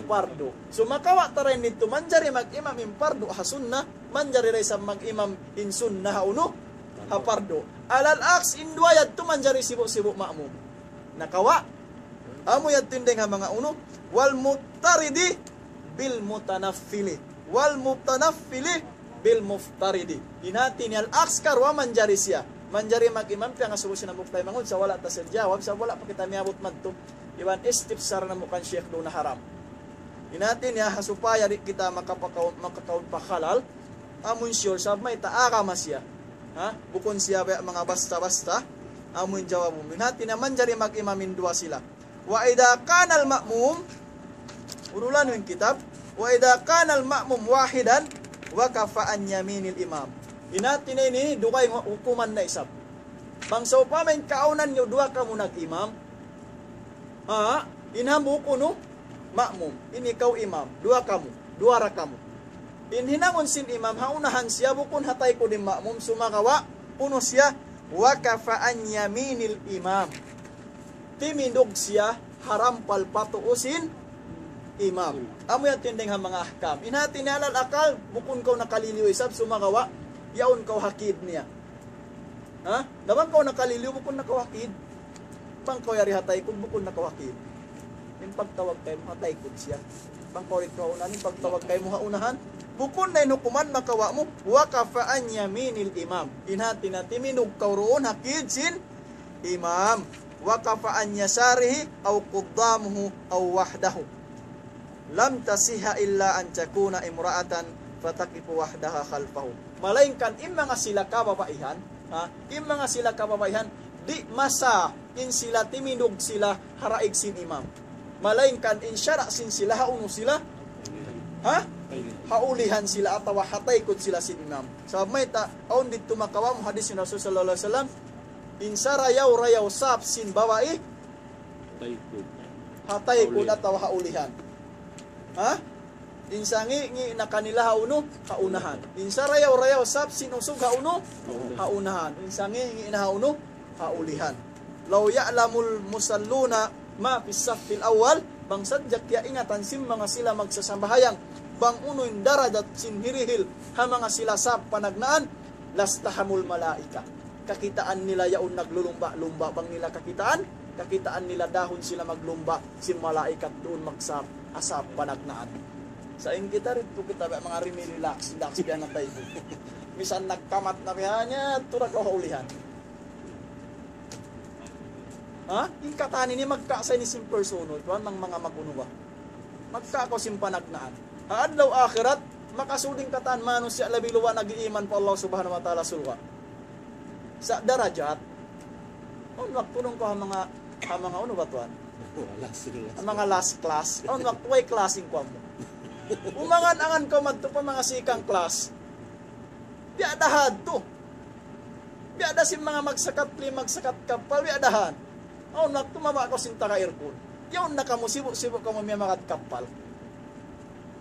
Pardu. So, makawa' ta da in didtu, manjari mag-imam in pardu ha sunna, manjari da isab mag-imam in sunna ha unu? Ha pardu. Alal aks, in duwa yadtu manjari sibu'-sibu' ma'mum. Nakawa'. Amu yadtu in dayng ha manga unu. Wal muftaridi bil mutanaffili. Wal mutanaffili bil muftaridi. In hati niya al-aks karuwa manjari siya. Manjari mag-imam piyangasubu sin hambuuk taymanghud, sa' wala' ta siya jawab, sa' wala' pa kita miyabut madtu. Iban istifsar namu' kan Sheikh duun na haram. In hati niya, ha supaya di' kita makapakaw-, makakaun pa halal, amun sure, sabab mayta' agama siya. Ha? Bukun siya biya' manga basta-basta, amun jawab mu. In hati niya manjari mag-imam in duwa sila. Wa idha kana al-ma'mum, urulan in kitab, wa idha kana al-ma'mum wahidan, waqafa an yaminil imam. In hati niya ini, dugaing hukuman na isab. Bang sawpama in kaawnan niyu duwa kamu nag-imam, ha, in hambuuk unu, ma'mum. In ikaw imam, duwa kamu, duwa ra kamu. In hinangun sin imam, ha unahan siya, bukun ha taykud in ma'mum, sumagawa', unu siya, waqafa an yaminil imam. Timindug siya ha rampal pa tuu sin imam. Amu yan tinding ha manga ahkam. In hati niya alal akal, bukun kaw nakaliliyu isab, sumagawa', yaun kaw ha kid niya. Ha? Na bang kaw nakaliliyu, bukun na kaw ha kid. Bang kaw yari ha taykud, bukun na kaw ha kid. In pagtawag kaymu ha taykud siya. Bang kaw yari ha unahan, in pagtawag kaymu ha unahan. Bukun na in hukuman makawa' mu, waqafa an yaminil imam. In hati niya timindug kaw duun ha kid sin imam. Waqafa an yasarihi aw quddamuhu aw wahdahu. Lam tasihha illa an takuna imra'atan fataqifu wahdaha khalfahu. Malaingkan in manga sila kababaihan, ha? In manga sila kababaihan, di' masah in sila timindug sila ha daig sin imam. Malaingkan in sara' sin sila ha unu sila, ha? Ha ulihan sila atawa ha taykud sila sin imam. Sabab mayta', awn didtu makawa' mu hadis sin Rasul sallallahu alayhi wasallam, in sarayaw-rayaw sap sin babai, taykud. Ha taykud atawa ha ulihan. Ha? In sangi'-ngi' na kanila ha unu, ha unahan. In sarayaw-rayaw sap sin usug ha unu, ha unahan. In sangi'-ngi' na ha unu, ha ulihan. Law ya'lamul musalluna ma fis saffil awwal, bang sadja kiyaingatan sin manga sila magsasambahayang, bang unu in darajat sin hirihil ha manga sila sap panagnaan, lastahamul malaika. Kakitaan nila yaun naglulumba'-lumba', bang nila kakitaan, kakitaan nila dahun sila maglumba' sin malaikat duun magsap, ha sap panagnaan. Sa' in kita didtu kita biya' manga rimi-relax, relax biya' na tayo. Misan nagkamat na biya' niya, tura kaw ha ulihan. Ha? In katan ini magkasa ini sin personal, tuwan, manga mag-unu ba? Magkakaw sin panagnaan. Ha adlaw akhirat, makasud in katan manusiya' labi luwa nag-iiman pa Allah Subhanahu wa Ta'ala surga'. Sa' darajat. Awn waktu duun kaw ha manga, ha manga unu ba tuwan? Wala sila. Ha manga last class. Awn waktu way class in kuwan mu. Umangan-angan kaw madtu pa manga second class. Biya' da hadtu. Biya' da sin manga magsakat plane, magsakat kappal, biya' da han. Awn waktu mabaya' kaw sin taga aircon. Yaun na kamu, sibu'-sibu' kamu miyamagad kappal.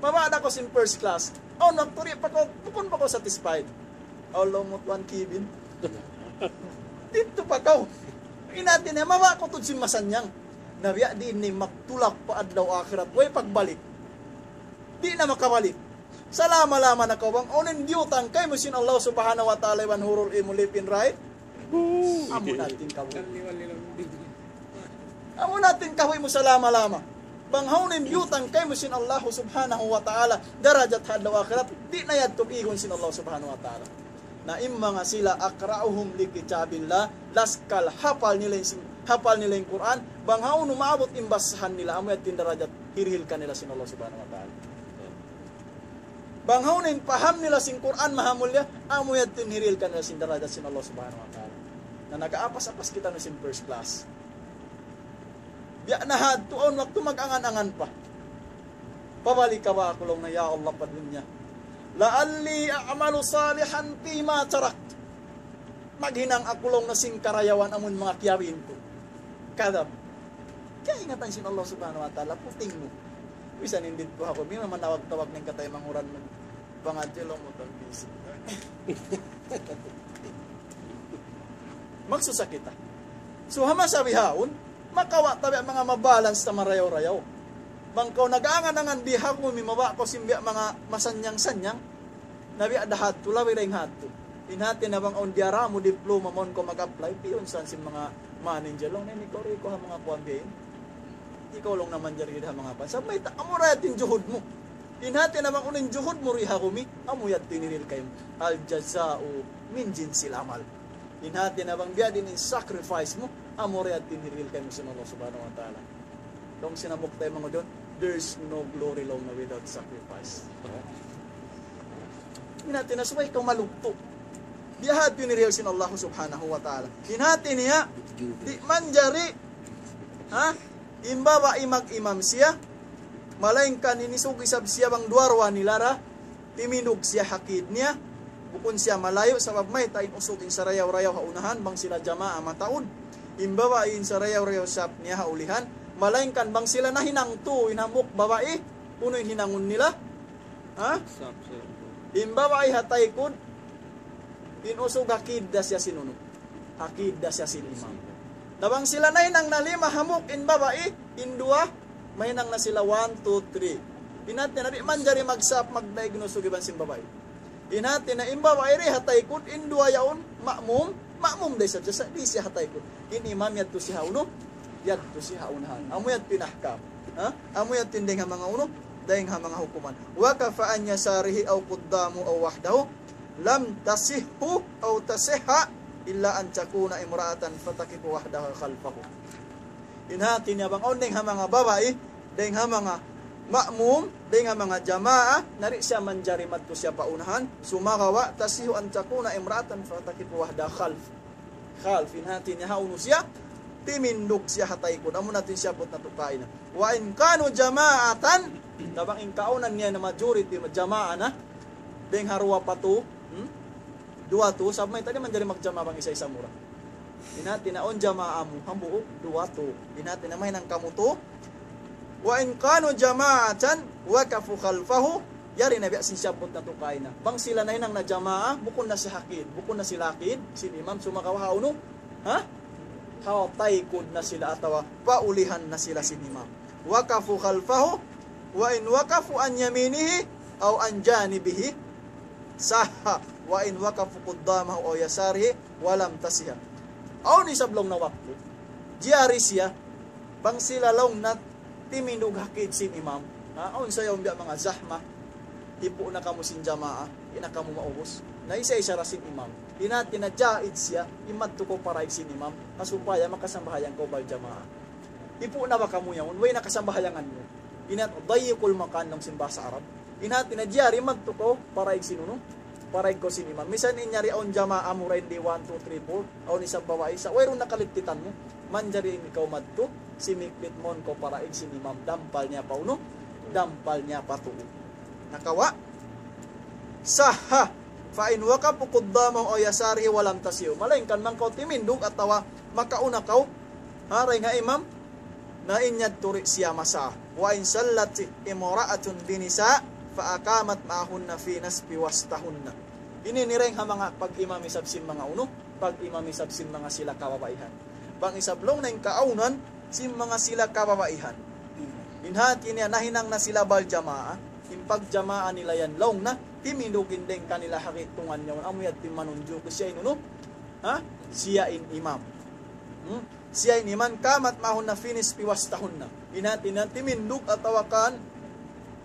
Mabaya' da kaw sin first class. Awn waktu di' pa kaw, bukun pa kaw satisfied. Awn laung mu tuwan Kevin. Didtu pa kaw. In hati niya, mabaya' kaw tuud sin masannyang. Na biya' diin ini magtulak pa adlaw akhirat. Way pagbalik. Di' na makabalik. Salama-lama na kaw bang unu in biyutang kaymu sin Allah Subhanahu wa Ta'ala iban hurul ain mu left and right. Amu na in kabuhi'. Amu na in kabuhi' mu salama-lama. Bang hawnu in biyutang kaymu sin Allah Subhanahu wa Ta'ala, darajat ha adlaw akhirat, di' na yadtu igun sin Allah Subhanahu wa Ta'ala. Na in manga sila أقرأهم لكتاب الله, laskal hapal nila in, hapal nila in Qur'an, bang hawnu maabut in basahan nila, amu yadtu in darajat hirihil kanila sin Allah Subhanahu wa Ta'ala. Bang hawnu in paham nila sin Qur'an mahamulliya, amu yadtu in hirihil kanila sin darajat sin Allah Subhanahu wa Ta'ala. Na nag-aapas-apas kita na sin first class. Biya' na hadtu awn waktu mag-angan-angan pa. Pabalik ka ba aku laung niya, ya Allah, pa dunya. لعلي أعمل صالحا فيما تركت. Maghinang aku laung niya sin karayawan amun manga kiyariin ku. Kadab. Kaingatan sin Allah Subhanahu wa Ta'ala, puting mu. Bisan in didtu ha aku, bang manawag-tawag na in kataymanghud mu. Pangadji laung mu tan busy. Magsusa kita. So, ha masa bihaun, makawa' ta biya' manga mabalance ta marayaw-rayaw. Bang kaw nag-angan-angan di ha aku, mimawa' kaw sin biya' manga masannyang-sannyang, na biya' da hadtu, labi dayn hadtu. In hati niya bang awn diyara mu diploma mawn kaw mag-apply, piyunsan sin manga manager laung niya, ini kaw ri kaw ha manga kuwan biya' ini. Ikaw laung na manjari ha manga pan. Sa' mayta', amu ra yadtu in juhud mu. In hati niya bang unu in juhud mu ri ha kumi, amu yadtu in hirihil kaymu. الجزاء من جنس العمل. In hati niya bang biya' diin in sacrifice mu, amu ra yadtu in hirihil kaymu sin Allah Subhanahu wa Ta'ala. Laung sin hambuuk taymanghud yaun, there's no glory laung niya without sacrifice. In hati niya subay kaw malugtu'. Biya' hadtu in hirihil sin Allah Subhanahu wa Ta'ala. In hati niya, di' manjari, ha? In babai mag-imam siya, malaingkan in isug isab siya bang duwa-ruwa nila ra, timindug siya ha kid niya, bukun siya malayu', sabab mayta', in usug in sarayaw-rayaw ha unahan, bang sila jamaa mataud. In babai in sarayaw-rayaw sap niya ha ulihan, malaingkan bang sila nahinang tū, in hambuuk babai, unu in hinangun nila? Ha? Sap, sap. In babai ha taykud, in usug ha kid da siya sin unu. Ha kid da siya sin imam. Na bang sila nahinang na lima hambuuk in babai, in duwa, mahinang na sila one, two, three. In hati niya di' manjari magsap, magdaig in usug iban sin babai. In hati niya in babai ri ha taykud, in duwa yaun, ma'mum, ma'mum da isab siya, di' siya ha taykud. In imam yadtu siya ha unu, yadtu siya ha unahan. Amu yadtu in ahkam. Ha? Amu yadtu in dayn ha manga unu, dayn ha manga hukuman. وقف عن يساره أو قدامه أو وحده. لم تصح أو تصح إلا أن تكون امرأة فتقف وحدها خلفه. In hati niya bang awn dayn ha manga babai, dayn ha manga ma'mum, dayn ha manga jamaa, na di' siya manjari madtu siya pa unahan, sumagawa' تصح أن تكون امرأة فتقف وحدها خلف. Khalf, in hati niya ha unu siya, timindug siya ha taykud. Amu na in siyabbut natu' kaina. وإن كانوا جماعة, na bang in kaawnan niya na majority, jamaa na, dayn ha duwa pa tū, hmm? Duwa tū, sabab mayta' di' manjari magjamaa bang isa-isa mu ra. In hati niya awn jamaa mu, hambuuk, duwa tū. In hati niya mahinang kamu tū, وإن كانوا جماعة وقفوا خلفه, yari na biya' sin siyabbut natu' kaina. Bang sila nahinang na jamaa, bukun na sila ha kid, bukun na sila ha kid sin imam, sumagawa' ha unu? Ha? Ha taykud na sila atawa pa ulihan na sila sin imam. وقفوا خلفه، وإن وقفوا عن يمينه أو عن جانبه صح، وإن وقفوا قدامه أو يساره ولم تصح. Awn isab laung na waktu, jari siya, bang sila laung na timindug ha kid sin imam. Ha, awn sa yaun biya' manga zahma. Hipu' na kamu sin jamaa, di' na kamu maubus. Na isa-isa ra sin imam. In hati niya jaiz siya, in madtu kaw paraig sin imam, ha supaya makasambahayang kaw bal jamaa. Hipu' na ba kamu yaun, way na kasambahayangan mu. In hati, ضيقوا المكان laung sin bahasa Arab. In hati niya jari madtu kaw paraig sin unu, paraig kaw sin imam. Misan in yari awn jamaa mu ra in di' one, two, three, four, awn isab babai isa, wayruun na kalittitan mu. Manjari in ikaw madtu, simiklit mawn kaw paraig sin imam, dampal niya pa unu, dampal niya pa tuu. Nakawa'? صح، فإن وقفوا قدامه أو يساره ولم تصح. Malaingkan bang kaw timindug atawa makauna kaw, ha, dayn ha imam, na in yadtu di' siya masah. وإن صلت امرأة بنساء فأقامت معهن في نصف وسطهن. Ini in dayn ha manga pag-imam isab sin manga unu, pag-imam isab sin manga sila kababaihan. Bang isab laung na in kaawnan sin manga sila kababaihan. In hati niya nahinang na sila bal jamaa. In pagjamaa nila yan laung na, timindug in dayng kanila ha gi'tungan yaun, amu yadtu in manunjuki siya in unu? Ha? Siya in imam. Hmm? Siya in imam, قامت معهن في نصف وسطهن. In hati niya, timindug atawa kan,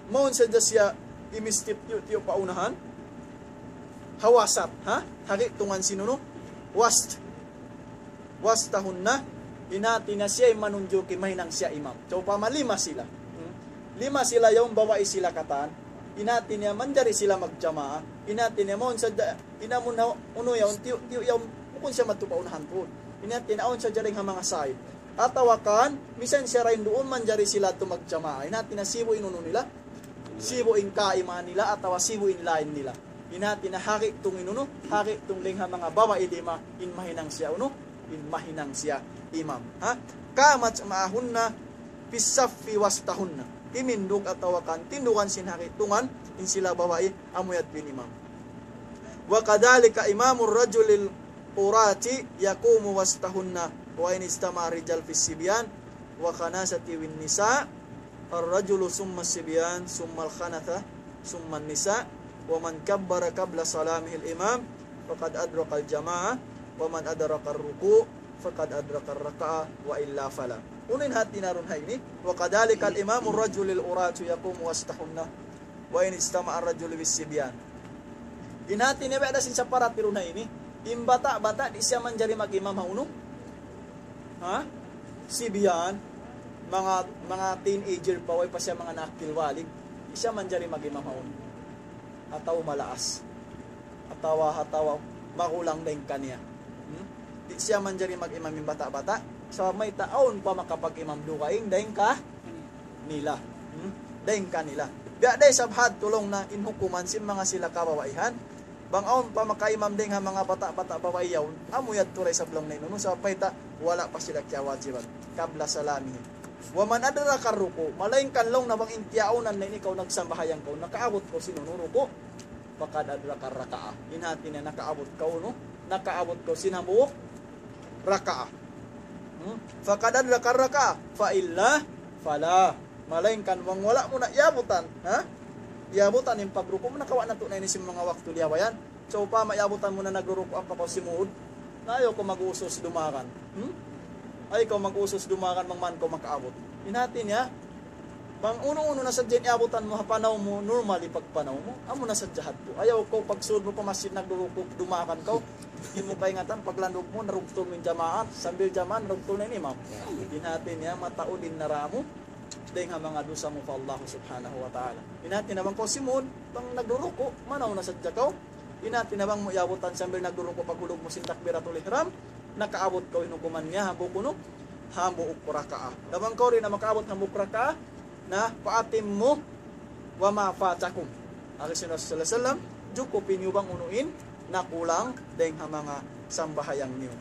mawn sadja siya imistip tiyu'-tiyu' pa unahan. Ha wasat, ha? Ha gi'tungan sin unu? Wast. وسطهن, in hati niya siya in manunjuki mahinang siya imam. So, upama lima sila. Hmm? Lima sila yaun, babai sila katan. In hati niya manjari sila magjamaa. In hati niya mawn sadja, in amun ha, unu yaun, tiyu', tiyu' yaun, bukun siya madtu pa unahan tuud. In hati niya awn sadja dayng ha manga side. Atawa kan, misan siya ra in duun, manjari sila tu magjamaa. In hati niya sibu' in unu nila. Sibu' in kaimahan nila, atawa sibu' in line nila. In hati niya ha gi'tung in unu, ha gi'tung dayng ha manga babai lima, in mahinang siya unu, in mahinang siya imam. Ha? قامت معهن في الصف وسطهن. Timindug atawa kan, tindugan sin ha gi'tungan, in sila babai, amu yadtu in imam. وكذلك إمام الرجل العراة يقوم وسطهن، وإن اجتمع الرجال في الصبيان والخنثة والنساء، الرجل ثم الصبيان ثم الخنثة ثم النساء، ومن كبر قبل سلامه الإمام فقد أدرك الجماعة، ومن أدرك الركوع فقد أدرك الركعة وإلا فلا. Unu in hati niya duun ha ini, وكذلك إمام الرجل العراة يقوم وسطهن، وإن اجتمع الرجل والصبيان. In hati niya biya' da sin saparat duun ha ini, in bata'-bata' di' siya manjari mag-imam ha unu? Ha? Sibyan, manga, manga teenager pa, way pa siya manga nakil walig, di' siya manjari mag-imam ha unu? Atawa malaas. Atawa, atawa magulang dayng kaniya. Hmm? Di' siya manjari mag-imam in bata'-bata'. Sabab mayta', awn pa makapag-imam dugaing dayng kanila. Hmm? Dayng kanila. Biya' da isab hadtu laung na in hukuman sin manga sila kababaihan. Bang awn pa makaimam dayng ha manga bata'-bata' babai yaun, amu yadtu da isab laung na in unu, sabab mayta', wala' pa sila kiyawajiban. قبل سلامه. ومن أدرك الركوع, malaingkan laung na bang in tiyaunan na ini kaw nagsambahayang kaw, nakaabut kaw sin unu, ruku', فقد أدرك الركعة. In hati niya nakaabut kaw unu, nakaabut kaw sin hambuuk raka'a. Hmm? فقد أدرك الركعة، وإلا فلا. Malaingkan bang wala' mu na iyabutan, ha? Iyabutan in pagruku' mu, nakawa' natu' na ini sin manga waktu liyabayan. So, upama iyabutan mu na nagruruku' ampa kaw simud, na ayaw kaw mag-usus dumagan. Hmm? Ayaw kaw mag-usus dumagan bang man kaw makaabut. In hati niya, bang unu-unu na sadja in iyabutan mu ha panaw mu, normally pagpanaw mu, amu na sadja hadtu. Ayaw kaw pagsud mu pa masjid nagruruku', dumagan kaw. Di' mu kaingatan, paglandug mu, narugtul mu in jamaat, sambil jamaat, narugtul na in imam. In hati niya, mataud in nara mu, dayng ha manga dusa mu pa Allah Subhanahu wa Ta'ala. In hati niya bang kaw simud, bang nagruruku', manaw na sadja kaw. In hati niya bang mu iyabutan sambil nagruruku' paghulug mu sin takbiratul ihram, nakaabut kaw in hukuman niya, hambuuk unu, hambuuk raka'a. Na bang kaw di' na makaabut hambuuk raka'a, na فأتموا ما فاتكم. Agi sin Rasul sallallahu alayhi wasallam, jukupi niyu bang unu in nakulang dayng ha manga sambahayang niyu.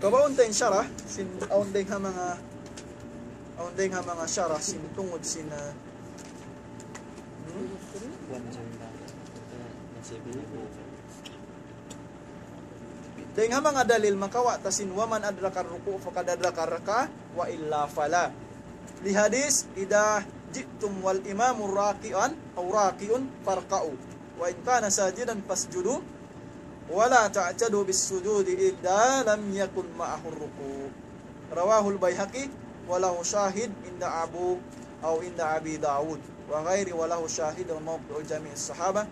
Kabaun ta in sharah, sin, awn dayng ha manga, awn dayng ha manga sharah, sin tungud sin, ah, hmm? Dayng ha manga dalil makawa' ta sin ومن أدرك الركوع فقد أدرك الركعة وإلا فلا. لحديث إذا جئتم والإمام راكعا أو راكع فاركعوا وإن كان ساجدا فاسجدوا ولا تعتدوا بالسجود إذا لم يكن معه الركوع. رواه البيهقي وله شاهد عند أبو أو عند أبي داود وغيره وله شاهد وموقع جميع الصحابة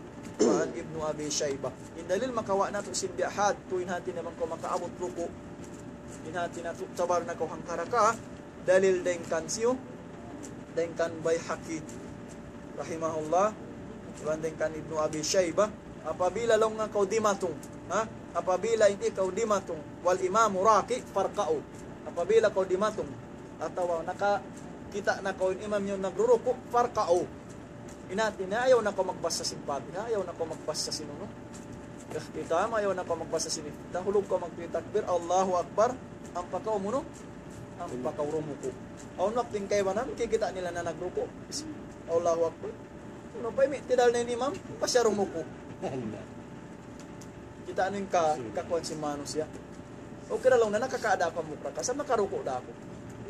وعن ابن أبي شيبة. In dalil makawa' natu' sin biya' hadtu, in hati niya bang kaw makaabut ruku'. In hati niya tu'tabar na kaw hangka raka'a, dalil dayng kan siyu, dayng kan Bayhaqi, rahimahullah, iban dayng kan Ibnu Abi Shayba, apabila laung niya kaw dimatung, ha? Apabila in ikaw dimatung, والإمام راكع فاركعوا. Apabila kaw dimatung, atawa nakakita' na kaw in imam niyu nagruruku', فاركعوا. In hati niya, ayaw na kaw magbasa sin Fatiha, ayaw na kaw magbasa sin unu. Ikhtitam, ayaw na kaw magbasa sin iftitah. Hulug kaw magtakbir, Allahu Akbar. Ampa kaw unu, ampa kaw rumuku'. Awn waktu in kaibanan, kikita' nila na nagruku'. Allahu Akbar. Unu pa, i'tidal na in imam, pa siya rumuku'. Kita' niyu in ka, kakuan sin manusiya'. Okay ra laung niya, nakakaada pa mukra ka, sa' nakaruku' da aku.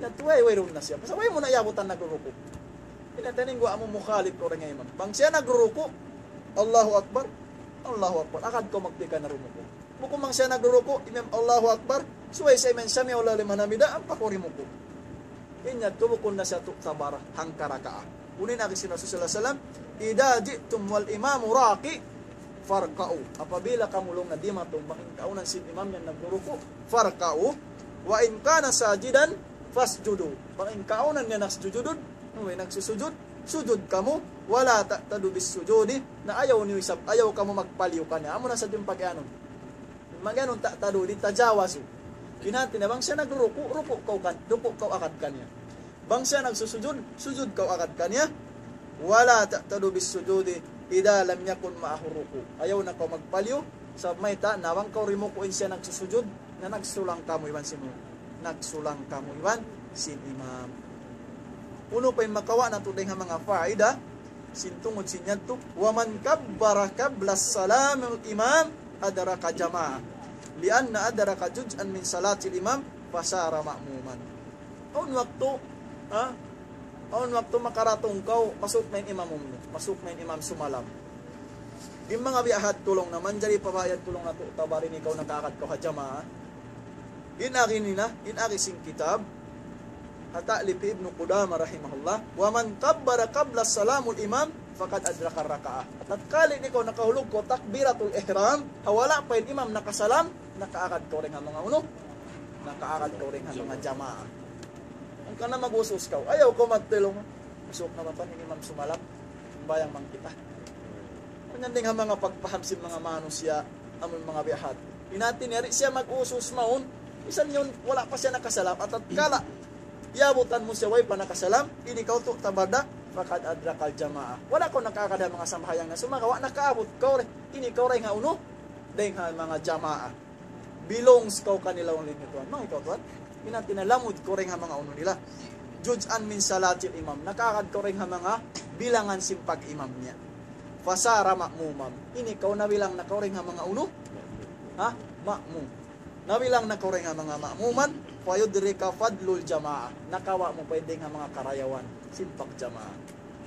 Na tuway, wayruun na siya. Sa' way mu na iyabutan nagruruku'. Ini taning gua amu mukhalif kaw dayn ha imam. Bang siya nagruruku', Allahu Akbar, Allahu Akbar. Agad kaw magpika na rumuku'. Bukun bang siya nagruruku', imam Allahu Akbar, subay sa imam sami'allahu liman hamidah, ampa kaw rimuku'. In yadtu bukun na siya tu'tabar hangka rakaat. Unu in agi sin Rasul sallallahu alayhi wasallam, إذا جئتم والإمام راكع فاركعوا. Apabila kamu laung niya dimatung bang in kaunan sin imam yan nagruruku', فاركعوا. وإن كان ساجدا فاسجدوا. Bang in kaunan niya nagsujud, nu, nagsusujud, sujud kamu, ولا تعتدوا بالسجود, na ayaw niyu isab, ayaw kamu magpaliyu kaniya. Amu na sa' in pag-anun. Mag-anun, تعتدوا, di tajawazu. In hati niya, bang siya nagruruku', ruku' kaw kan, ruku' kaw agad kaniya. Bang siya nagsusujud, sujud kaw agad kaniya. ولا تعتدوا بالسجود إذا لم يكن معه الركوع. Ayaw na kaw magpaliyu, sabab mayta', na bang kaw rimuku' in siya nagsusujud, na nagsulang kamu iban sin imam. Nagsulang kamu iban sin imam. Unu pa in makawa' natu' dayn ha manga faida, sin tungud sin yadtu, ومن كبر قبل سلام الإمام أدرك جماعة، لأن أدرك جزءا من صلاة الإمام فصار مأموما. Awn waktu, ha? Awn waktu makaratung kaw, masuuk na in imam mu, masuuk na in imam sumalam. In manga biya' ha yadtu laung niya, manjari pa ba ha yadtu laung niya tu'tabar in ikaw nakaagad kaw ha jamaa. In agi nila, in agi sin kitab, ha ta'lif Ibnu Qudamah rahimahullah, ومن كبر قبل سلام الإمام فقد أدرك الركعة. Tatkala in ikaw nakahulug kaw takbiratul ihram, ha wala' pa in imam nakasalam, nakaagad kaw dayn ha manga unu, nakaagad kaw dayn ha manga jamaa. Hangkan na mag-us-us kaw, ayaw kaw magtulung. Masuuk na ba in imam sumalam? Sambahayang bang kita. Kunyan dayn ha manga pagpaham sin manga manusiya', amun manga biya' ha yadtu. In hati niya, di' siya mag-us-us mawn, misan yaun wala' pa siya nakasalam, tatkala iyabutan mu siya way pa nakasalam, in ikaw tu'tabar da, فقد أدرك الجماعة. Wala' kaw nakaagad ha manga sambahayang niya, sumagawa' nakaabut kaw, in ikaw dayn ha unu, dayn ha manga jamaa. Belongs kaw kanila, laung niya tuwan. Manga ikaw tuwan, in hati niya lamud kaw dayn ha manga unu nila. جزءا من صلاة الإمام. Nakaagad kaw dayn ha manga bilangan sin pag-imam niya. فصار مأموما. In ikaw nabilang na kaw dayn ha manga unu? Ha? Ma'mum. Nabilang na kaw dayn ha manga ma'muman. فيدرك فضل الجماعة. Nakawa' mu pa in dayn ha manga karayawan sin pagjamaa.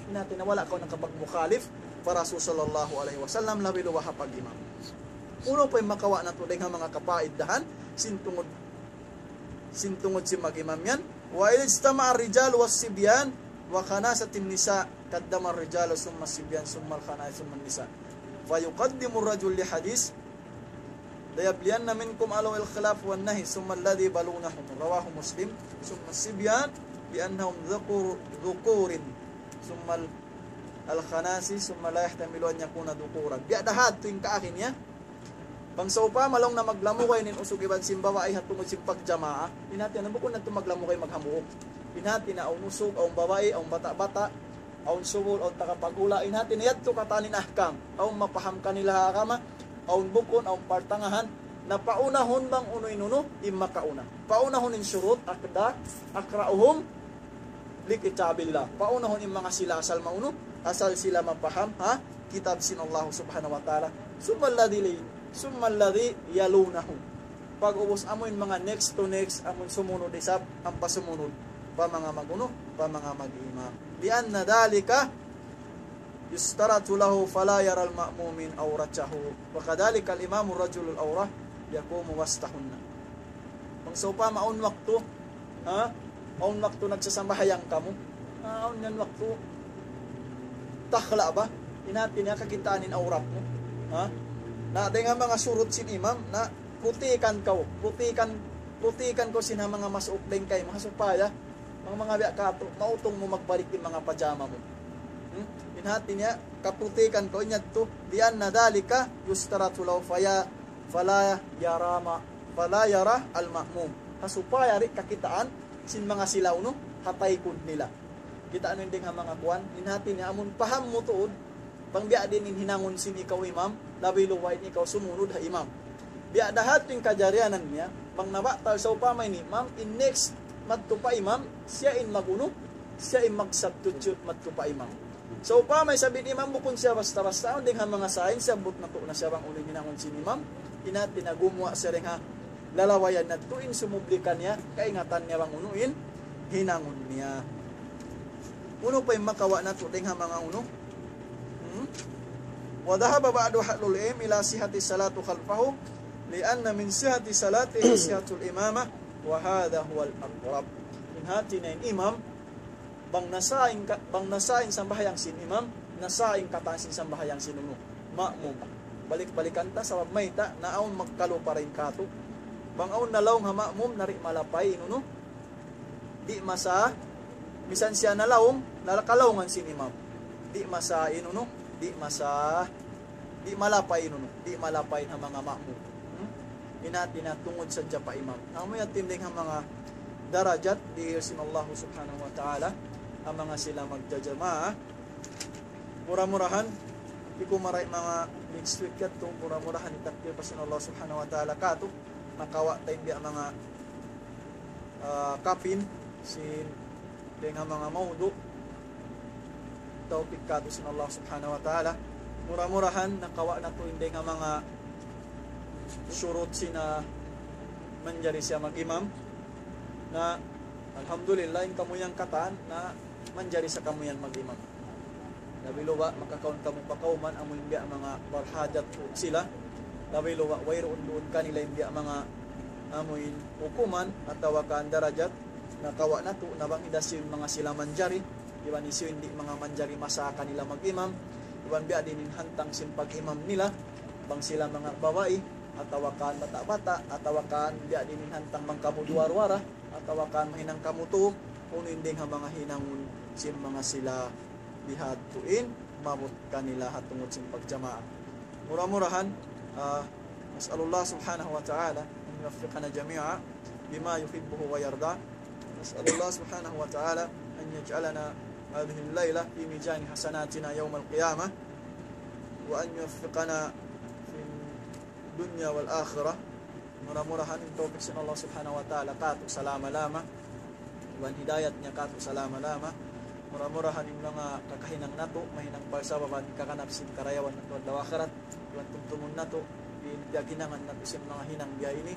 In hati niya wala' kaw nakapagmukhalif pa Rasul sallallahu alayhi wasallam, labi luba ha pag-imam. Unu pa in makawa' natu' dayn ha manga kapaidahan, sin tungud, sin tungud sin mag-imam yan. وإذا اجتمع الرجال والصبيان وخنثت النساء قدم الرجال ثم الصبيان ثم الخنائث ثم النساء فيقدم الرجل لحديث ليبلين منكم أهل الخلاف والنهي ثم الذين يلونهم رواه مسلم ثم الصبيان لأنهم ذكور، ذكور ثم ال-، الخناثي ثم لا يحتمل أن يكون ذكورا. Biya' da ha yadtu in kaagi niya. Bang sawpama laung niya maglamugay in usug iban sin babai ha tungud sin pagjamaa, in hati niya bukun na yadtu maglamugay maghambuuk. In hati niya awn usug, awn babai, awn bata'-bata', awn subul, awn tagapagula, in hati niya yadtu katan in ahkam. Awn mapaham kanila ha agama, awn bukun, awn partangahan, na paunahun bang unu in unu, in makauna. Paunahun in shurut, aqda, أقرؤهم لكتاب الله. Paunahun in manga sila asal maunu, asal sila mapaham ha kitab sin Allah Subhanahu wa Ta'ala. ثم الذين، ثم الذين يلونهم. Pag'ubus amu in manga next to next, amu in sumunud isab, ampa sumunud pa manga mag-unu, pa manga mag-imam. لأن ذلك يشترط له فلا يرى المأموم عورته. وكذلك الإمام الرجل العورة يقوم وسطهن. Bang sawpama awn waktu, ha? Awn waktu nagsasambahayang kamu. Ha, awn yan waktu takhla' ba? In hati niya kakitaan in awrat mu. Ha? Na dayn ha manga shurut sin imam, na putikan kaw, putikan, putikan kaw sin ha manga masuuk dayn kaymu, ha supaya bang manga biya' katu', mautung mu magbalik in manga pajama mu. Hmm? In hati niya, kaputikan kaw in yadtu, لأن ذلك يشترط له فيا-، فلا يرى ما-، فلا يرى المأموم. Ha supaya di' kakitaan sin manga sila unu, ha taykud nila. Kitaa niyu in dayn ha manga kuwan, in hati niya amun paham mu tuud, bang biya' diin in hinangun sin ikaw imam, labi luba in ikaw sumunud ha imam. Biya' da ha yadtu in kajarianan niya, bang nabatal sawpama in imam, in next madtu pa imam, siya in mag-unu, siya in mag-substitute madtu pa imam. Sawpama isab in imam bukun siya basta-basta, awn dayn ha manga sign, siyabbut natu' na siya bang unu in hinangun sin imam, in hati niya gumuwa' siya dayn ha lalawayan natu' in sumubli kaniya, kaingatan niya bang unu in hinangun niya. Unu pa in makawa' natu' dayng ha manga unu? Hmm? وذهب بعض أهل العلم إلى صحة الصلاة خلفه لأن من صحة صلاته صحة الإمامة وهذا هو الأقرب. In hati niya in imam, bang nasā in ka-, bang nasā in sambahayang sin imam, nasā in katan sin sambahayang sin unu? Ma'mum. Balik-balikan ta, sabab mayta', na awn magkalupa dayn kātu'. Bang awn nalaung ha ma'mum, na di' malapay in unu? Di' masā, misan siya nalaung, nakalaungan sin imam. Di' masā in unu? Di' masā, di' malapay in unu? Di' malapay ha manga ma'mum. Hmm? In hati niya tungud sadja pa imam. Amu yan in dayng ha manga darajat dihil sin Allah Subhanahu wa Ta'ala, ha manga sila magjajamaa. Mura-murahan, di' ku marayaw manga next week yadtu, mura-murahan hitakdir pa sin Allah Subhanahu wa Ta'ala kātu', makawa' ta in biya' manga, ah, kapin, sin, dayng ha manga mawdu', tawpik kātu' sin Allah Subhanahu wa Ta'ala. Mura-murahan, nakawa' natu' in dayng ha manga shurut sin, ah, manjari siya mag-imam. Na, alhamdulillah, in kamu yan katan, na manjari sa kamu yan mag-imam. Labi luba', makakaun kamu pa kawman, amu in biya' manga barhajat sila. Labi luba', wayruun duun kanila in biya' manga amu in hukuman, atawa kan darajat, nakawa' natu', na bang hinda sin manga sila manjari, iban hisiyu in di' manga manjari masa kanila mag-imam, iban biya' diin in hantang sin pag-imam nila, bang sila manga babai, atawa kan bata'-bata', atawa kan biya' diin in hantang bang kamu duwa-ruwa ra, atawa kan mahinang kamu tū, unu in dayng ha manga hinangun sin manga sila bihadtu in maabut kanila ha tungud sin pagjamaa. Mura-murahan, ah, نسأل الله سبحانه وتعالى أن يوفقنا جميعا بما يحبه ويرضى. نسأل الله سبحانه وتعالى أن يجعلنا هذه الليلة في ميزان حسناتنا يوم القيامة، وأن يوفقنا في الدنيا والآخرة. Mura-murahan in tawpik sin Allah Subhanahu wa Ta'ala kātu' salama-lama. Iban hidayat niya kātu' salama-lama. Mura-murahan in manga kakahinang natu', mahinang parsababan kakanap sin karayawan natu' adlaw akhirat. Iban tumtumun natu', in piyaghinangan natu' sin manga hinang biya' ini,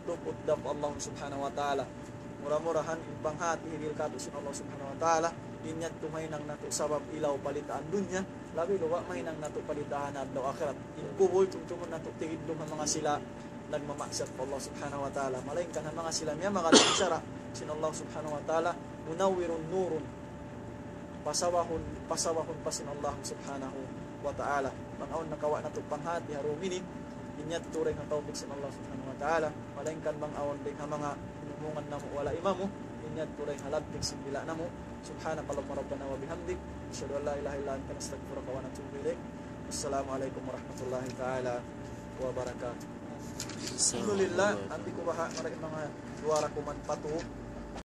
tuput dayn pa Allah Subhanahu wa Ta'ala. Mura-murahan in panghāti hirihil kātu' sin Allah Subhanahu wa Ta'ala, in yadtu mahinang natu' sabab ilaw palitaan dunya, labi luba' mahinang natu' palitaan adlaw akhirat. In kubul, tumtumun natu' tigidlum ha manga sila nagmamaksiyat pa Allah Subhanahu wa Ta'ala. Malaingkan ha manga sila miyamagad sin sara' sin Allah Subhanahu wa Ta'ala, منور نور. Pasawahun, pasawahun pa sin Allah Subhanahu wa Ta'ala. Bang awn nakawa' natu' panghāti ha dum ini, in yadtu dayn ha tawpik sin Allah Subhanahu wa Ta'ala. Malaingkan bang awn dayn ha manga hinumungan namu' wala' imamu, in yadtu dayn ha lagtik sin dila' namu'. سبحانك اللهم ربنا وبحمدك، نشهد أن لا إله إلا أنت، نستغفرك ونتوب إليك. السلام عليكم ورحمة الله تعالى وبركاته. Alhamdulillah, ambi ku baha' marayaw manga duwa ra kuman pa tū.